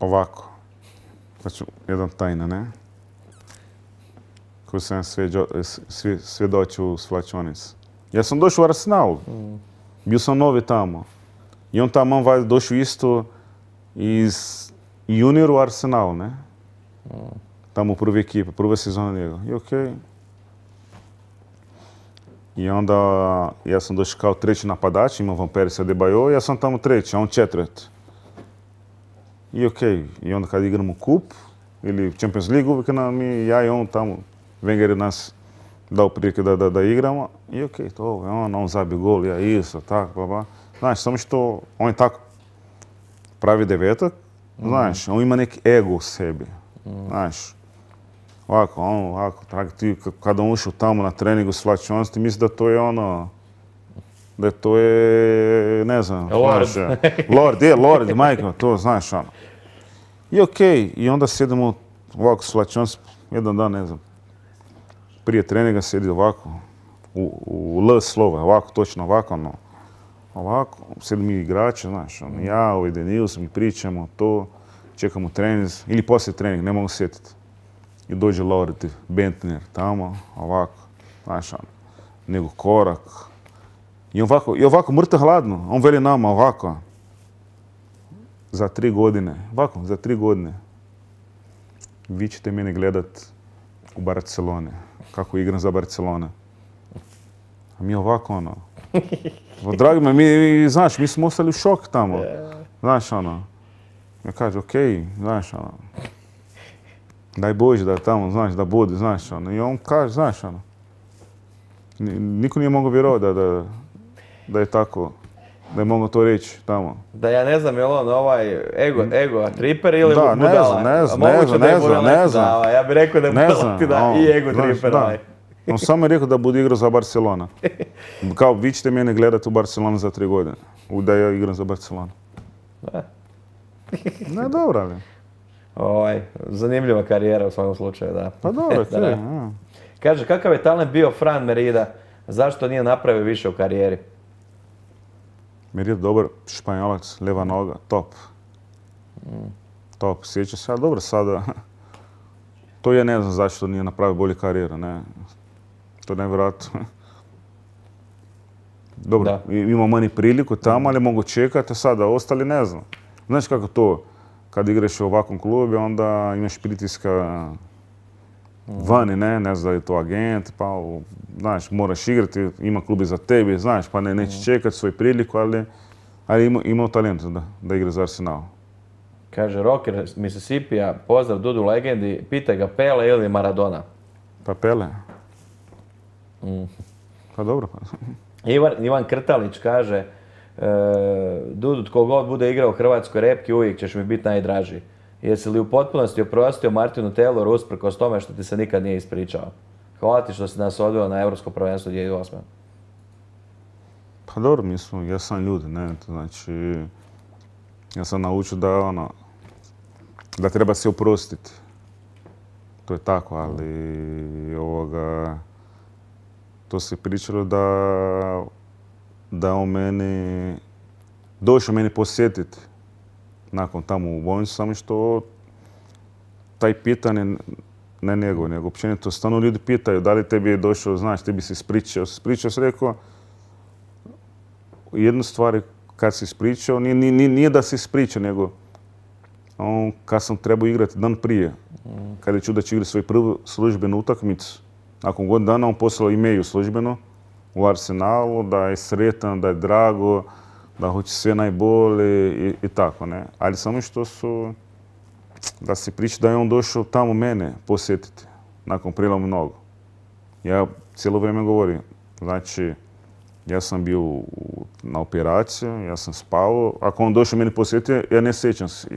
Ovako, znači jedan tajna, ne? Koju sam svjedočio u svlačionici. Ja sam došao u Arsenal, bio sam novi tamo. I on tamo valjda došao isto iz junior u Arsenal, ne? Tamo u prvi ekipe, prva sezona njega. I okej. I onda ja sam došao kao treći napadač, imao Van Persie Adebayor, ja sam tamo treći, a on četvrti. I okej. I onda kad igramo kup ili Champions League, uvijek ja i on tamo, Wenger je nas dao prilike da igramo. I okej, to on zabio gol, ja isto, tako, bla. Znaš, samo što on je tako pravi devetak, znaš, on ima neki ego u sebi, znaš. Ovako, ti kada on ušao tamo na treningu svlačionici, ti misli da to je da to je, ne znam, Lord, majka, to znaš, I okej, i onda sjedemo ovako svlačionici, jedan dan, ne znam, prije treninga sjedi ovako, u L slova, ovako, točno ovako, sjedi mi igrače, znaš, ja, Denils, mi pričamo to, čekamo trening, ili poslije trening, ne mogu sjetiti. I dođe Lord Bentner tamo, ovako, znaš, nego korak. I ovako mrtav hladno, on veli nama ovako, za 3 godine, vi ćete mene gledat u Barcelone, kako igram za Barcelone. A mi ovako, dragi me, znaš, mi smo ostali u šok tamo, znaš, ja kaže, okej, znaš, daj Bože da tamo, znaš, da bude, znaš, i on kaže, znaš, niko nije mogao vjerovati da je tako, da je mogao to reći tamo. Da ja ne znam je li on ego triper ili budala? Ne znam. Ja bih rekao da je budala i ego triper. On samo je rekao da bude igrao za Barcelona. Kao, vi ćete mene gledati u Barcelonu za 3 godine, da ja igram za Barcelonu. Ne, dobro, ali. Zanimljiva karijera u svakom slučaju, da. Pa dobro, Kaže, kakav je talent bio Fran Merida? Zašto nije napravio više u karijeri? Merida dobar Španjolac, lijeva noga, top. Top, sjeća se, ali dobro sada. To ja ne znam zašto nije napravio bolju karijeru, ne. To je nevjerojatno. Dobro, ima meni priliku tamo, ali mogu čekati, sada ostali ne znam. Znaš kako to? Kad igraš u ovakvom klubu, onda imaš pritiska vani, ne znam da je to agent, pa znaš, moraš igrati, ima klubi za tebi, znaš, pa neće čekati svoju priliku, ali imao talent da igra za Arsenal. Kaže Rocker Mississippija, pozdrav Dudu legendi, pitaj ga Pele ili Maradona? Pa Pele. Pa dobro. Pa. Ivan Krtalić kaže, Dudu, tko god bude igrao u hrvatskoj repki, uvijek ćeš mi biti najdraži. Jesi li u potpunosti oprostio Martinu Tayloru usprkos tome što ti se nikad nije ispričao? Hvala ti što si nas odveo na Europsko prvenstvo 2008. Pa dobro, ja sam ljudi, ne, to znači, ja sam naučio da treba se oprostiti. To je tako, ali to se pričalo da on došao meni posjetiti nakon tamo u bolnicu, samo što taj pitanje, ne njegov, nego općenito, stalno ljudi pitaju da li tebi je došao, znaš, tebi se ispričao. Ispričao se, rekao, jednu stvar kad se ispričao, nije da se ispričao, nego kad sam trebao igrati dan prije, kada je čuo da će igrati svoju prvu službenu utakmicu, nakon godinu dana on poslao e-mail službeno, u Arsenalu, da je sretan, da je drago, da hoće sve najbolje i tako, ne. Ali samo što su, da se priča da je on došao tamo mene posjetiti, nakon priloma nogu. Ja cijelo vrijeme govorim, znači, ja sam bio na operaciji, ja sam spavao. Ako on došao meni posjetio, ja ne sjećam se.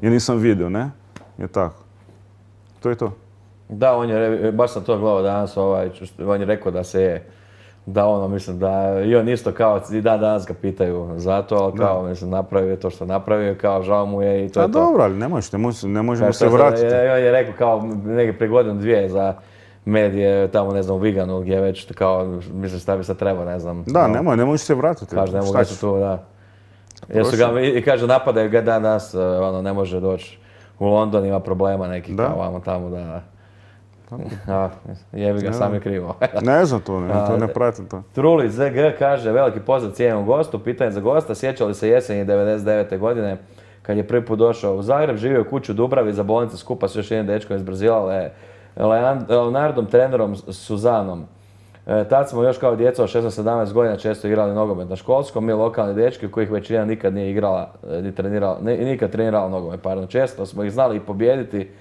Ja nisam vidio, ne? Je tako. To je to. Da, baš sam to gledao danas, on je rekao da se je, da ono, mislim, da i on isto kao, i danas ga pitaju za to, ali kao, mislim, napravio to što napravio, kao, žao mu je i to je to. Dobro, ali ne možemo se vratiti. On je rekao kao, neke prije godinu dvije za medije, tamo, ne znam, u Viganu, gdje već, kao, mislim, šta bi sad trebao, ne znam. Da, ne možeš se vratiti. Kaže, ne mogu se tu, da. I kaže, napadaju ga danas, ono, ne može doći u London, ima problema nekih, kao, vamo tamo, da. Jebi ga, sam je krivo. Ne znam to, ne pratim to. Truli ZG kaže, veliki pozdrav cijenjenom gostu, pitanje za gosta, sjeća li se jeseni 99. godine kad je prvi put došao u Zagreb, živio u kući u Dubravi za bolnice skupa s još jednim dečkom iz Brazila, Leonardom, trenerom Suzanom. Tad smo još kao djeca od 16-17 godina često igrali nogomet na školskom, mi lokalni dečki u kojih većina nikad nije igrala, nikad trenirala nogomet, pardon. Često smo ih znali i pobijediti,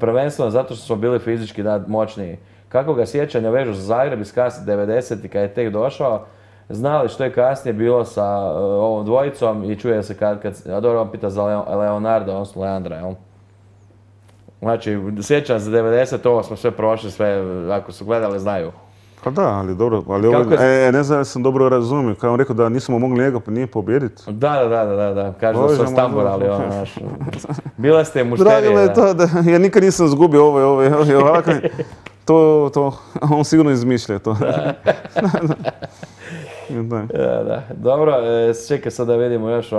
prvenstveno zato što smo bili fizički moćniji. Kako ga sjećanja vežu za Zagreb iz kasnih 90-ih kad je tek došao, znali što je kasnije bilo sa ovom dvojicom i čuje se a dobro vam pita za Leonarda, odnosno Leandra, jel? Znači, sjećam za 90, ovo smo sve prošli, sve, ako su gledali, znaju. Pa da, ali dobro, ne znam da sam dobro razumio, kao on rekao da nismo mogli njega nije pobijediti. Da, kaže da su stamburali, ono, znaš. Bila ste mušterije. Drago je to, da ja nikad nisam zgubio ovako, to, on sigurno izmišlja to. Da. Dobro, čekaj sad da vidimo još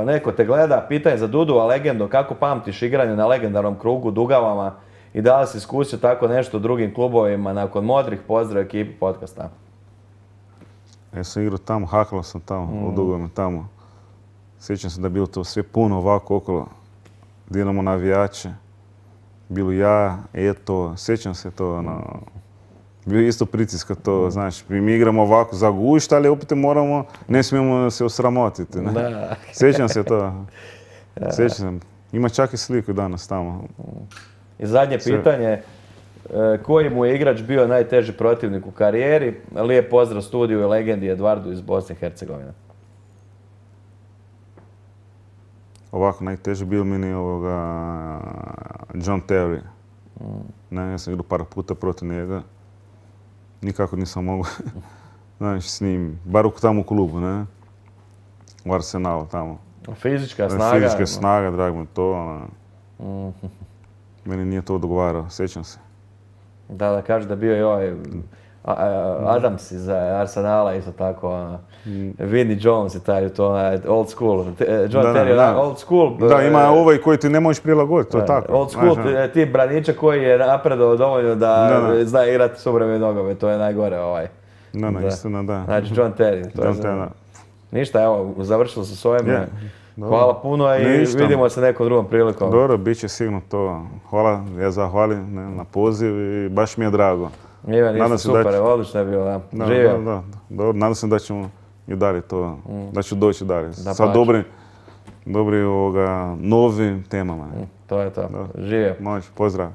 neko te gleda, pitanje za Dudu, a legendo, kako pamtiš igranje na legendarnom krugu Dugavama i da li si iskusio tako nešto u drugim klubovima nakon modrih? Pozdrav ekipi podcasta. Ja sam igrao tamo, hakalo sam tamo, u Dugavama tamo. Sjećam se da je bilo to sve puno ovako okolo. Dinamo navijače, bilo ja, Eto, sjećam se to, bio isto pritiska to, znaš, mi igramo ovako za gušt, ali opet ne smijemo se osramotiti. Sjećam se to, sjećam. Ima čak i sliku danas tamo. I zadnje pitanje, koji mu je igrač bio najteži protivnik u karijeri? Lijep pozdrav studiju i legendi Edvardu iz Bosne i Hercegovine. Ovako, najteži bio meni John Terry. Ja sam igrao par puta protiv njega. Nikako nisam mogu, znaš, s njim, bar tamo u klubu, ne? U Arsenalu tamo. Fizička snaga? Fizička snaga, drago mi to. Meni nije to odgovarao, sjećam se. Da, kaže da bio i ovaj Adams iz Arsenala, isto tako. Vinnie Jones i taj, to old school. John Terry, old school. Da, ima ovaj koji ti ne možeš prilagoditi, to je tako. Old school, ti braniča koji je napredao dovoljno da zna igrati suvremeni nogomet, to je najgore ovaj. Istina, da. Znači John Terry. Ništa, evo, završilo se s ovim. Hvala puno i vidimo se nekom drugom prilikom. Dobro, bit će sigurno to. Hvala, ja zahvalim na poziv i baš mi je drago. Ivan, isto super, odlično je bilo, da. Živio. Da, dobro, nadam se da ćemo i dalje to, da ću doći dalje. Sa dobrim novim temama. To je to. Živio. Moć, pozdrav.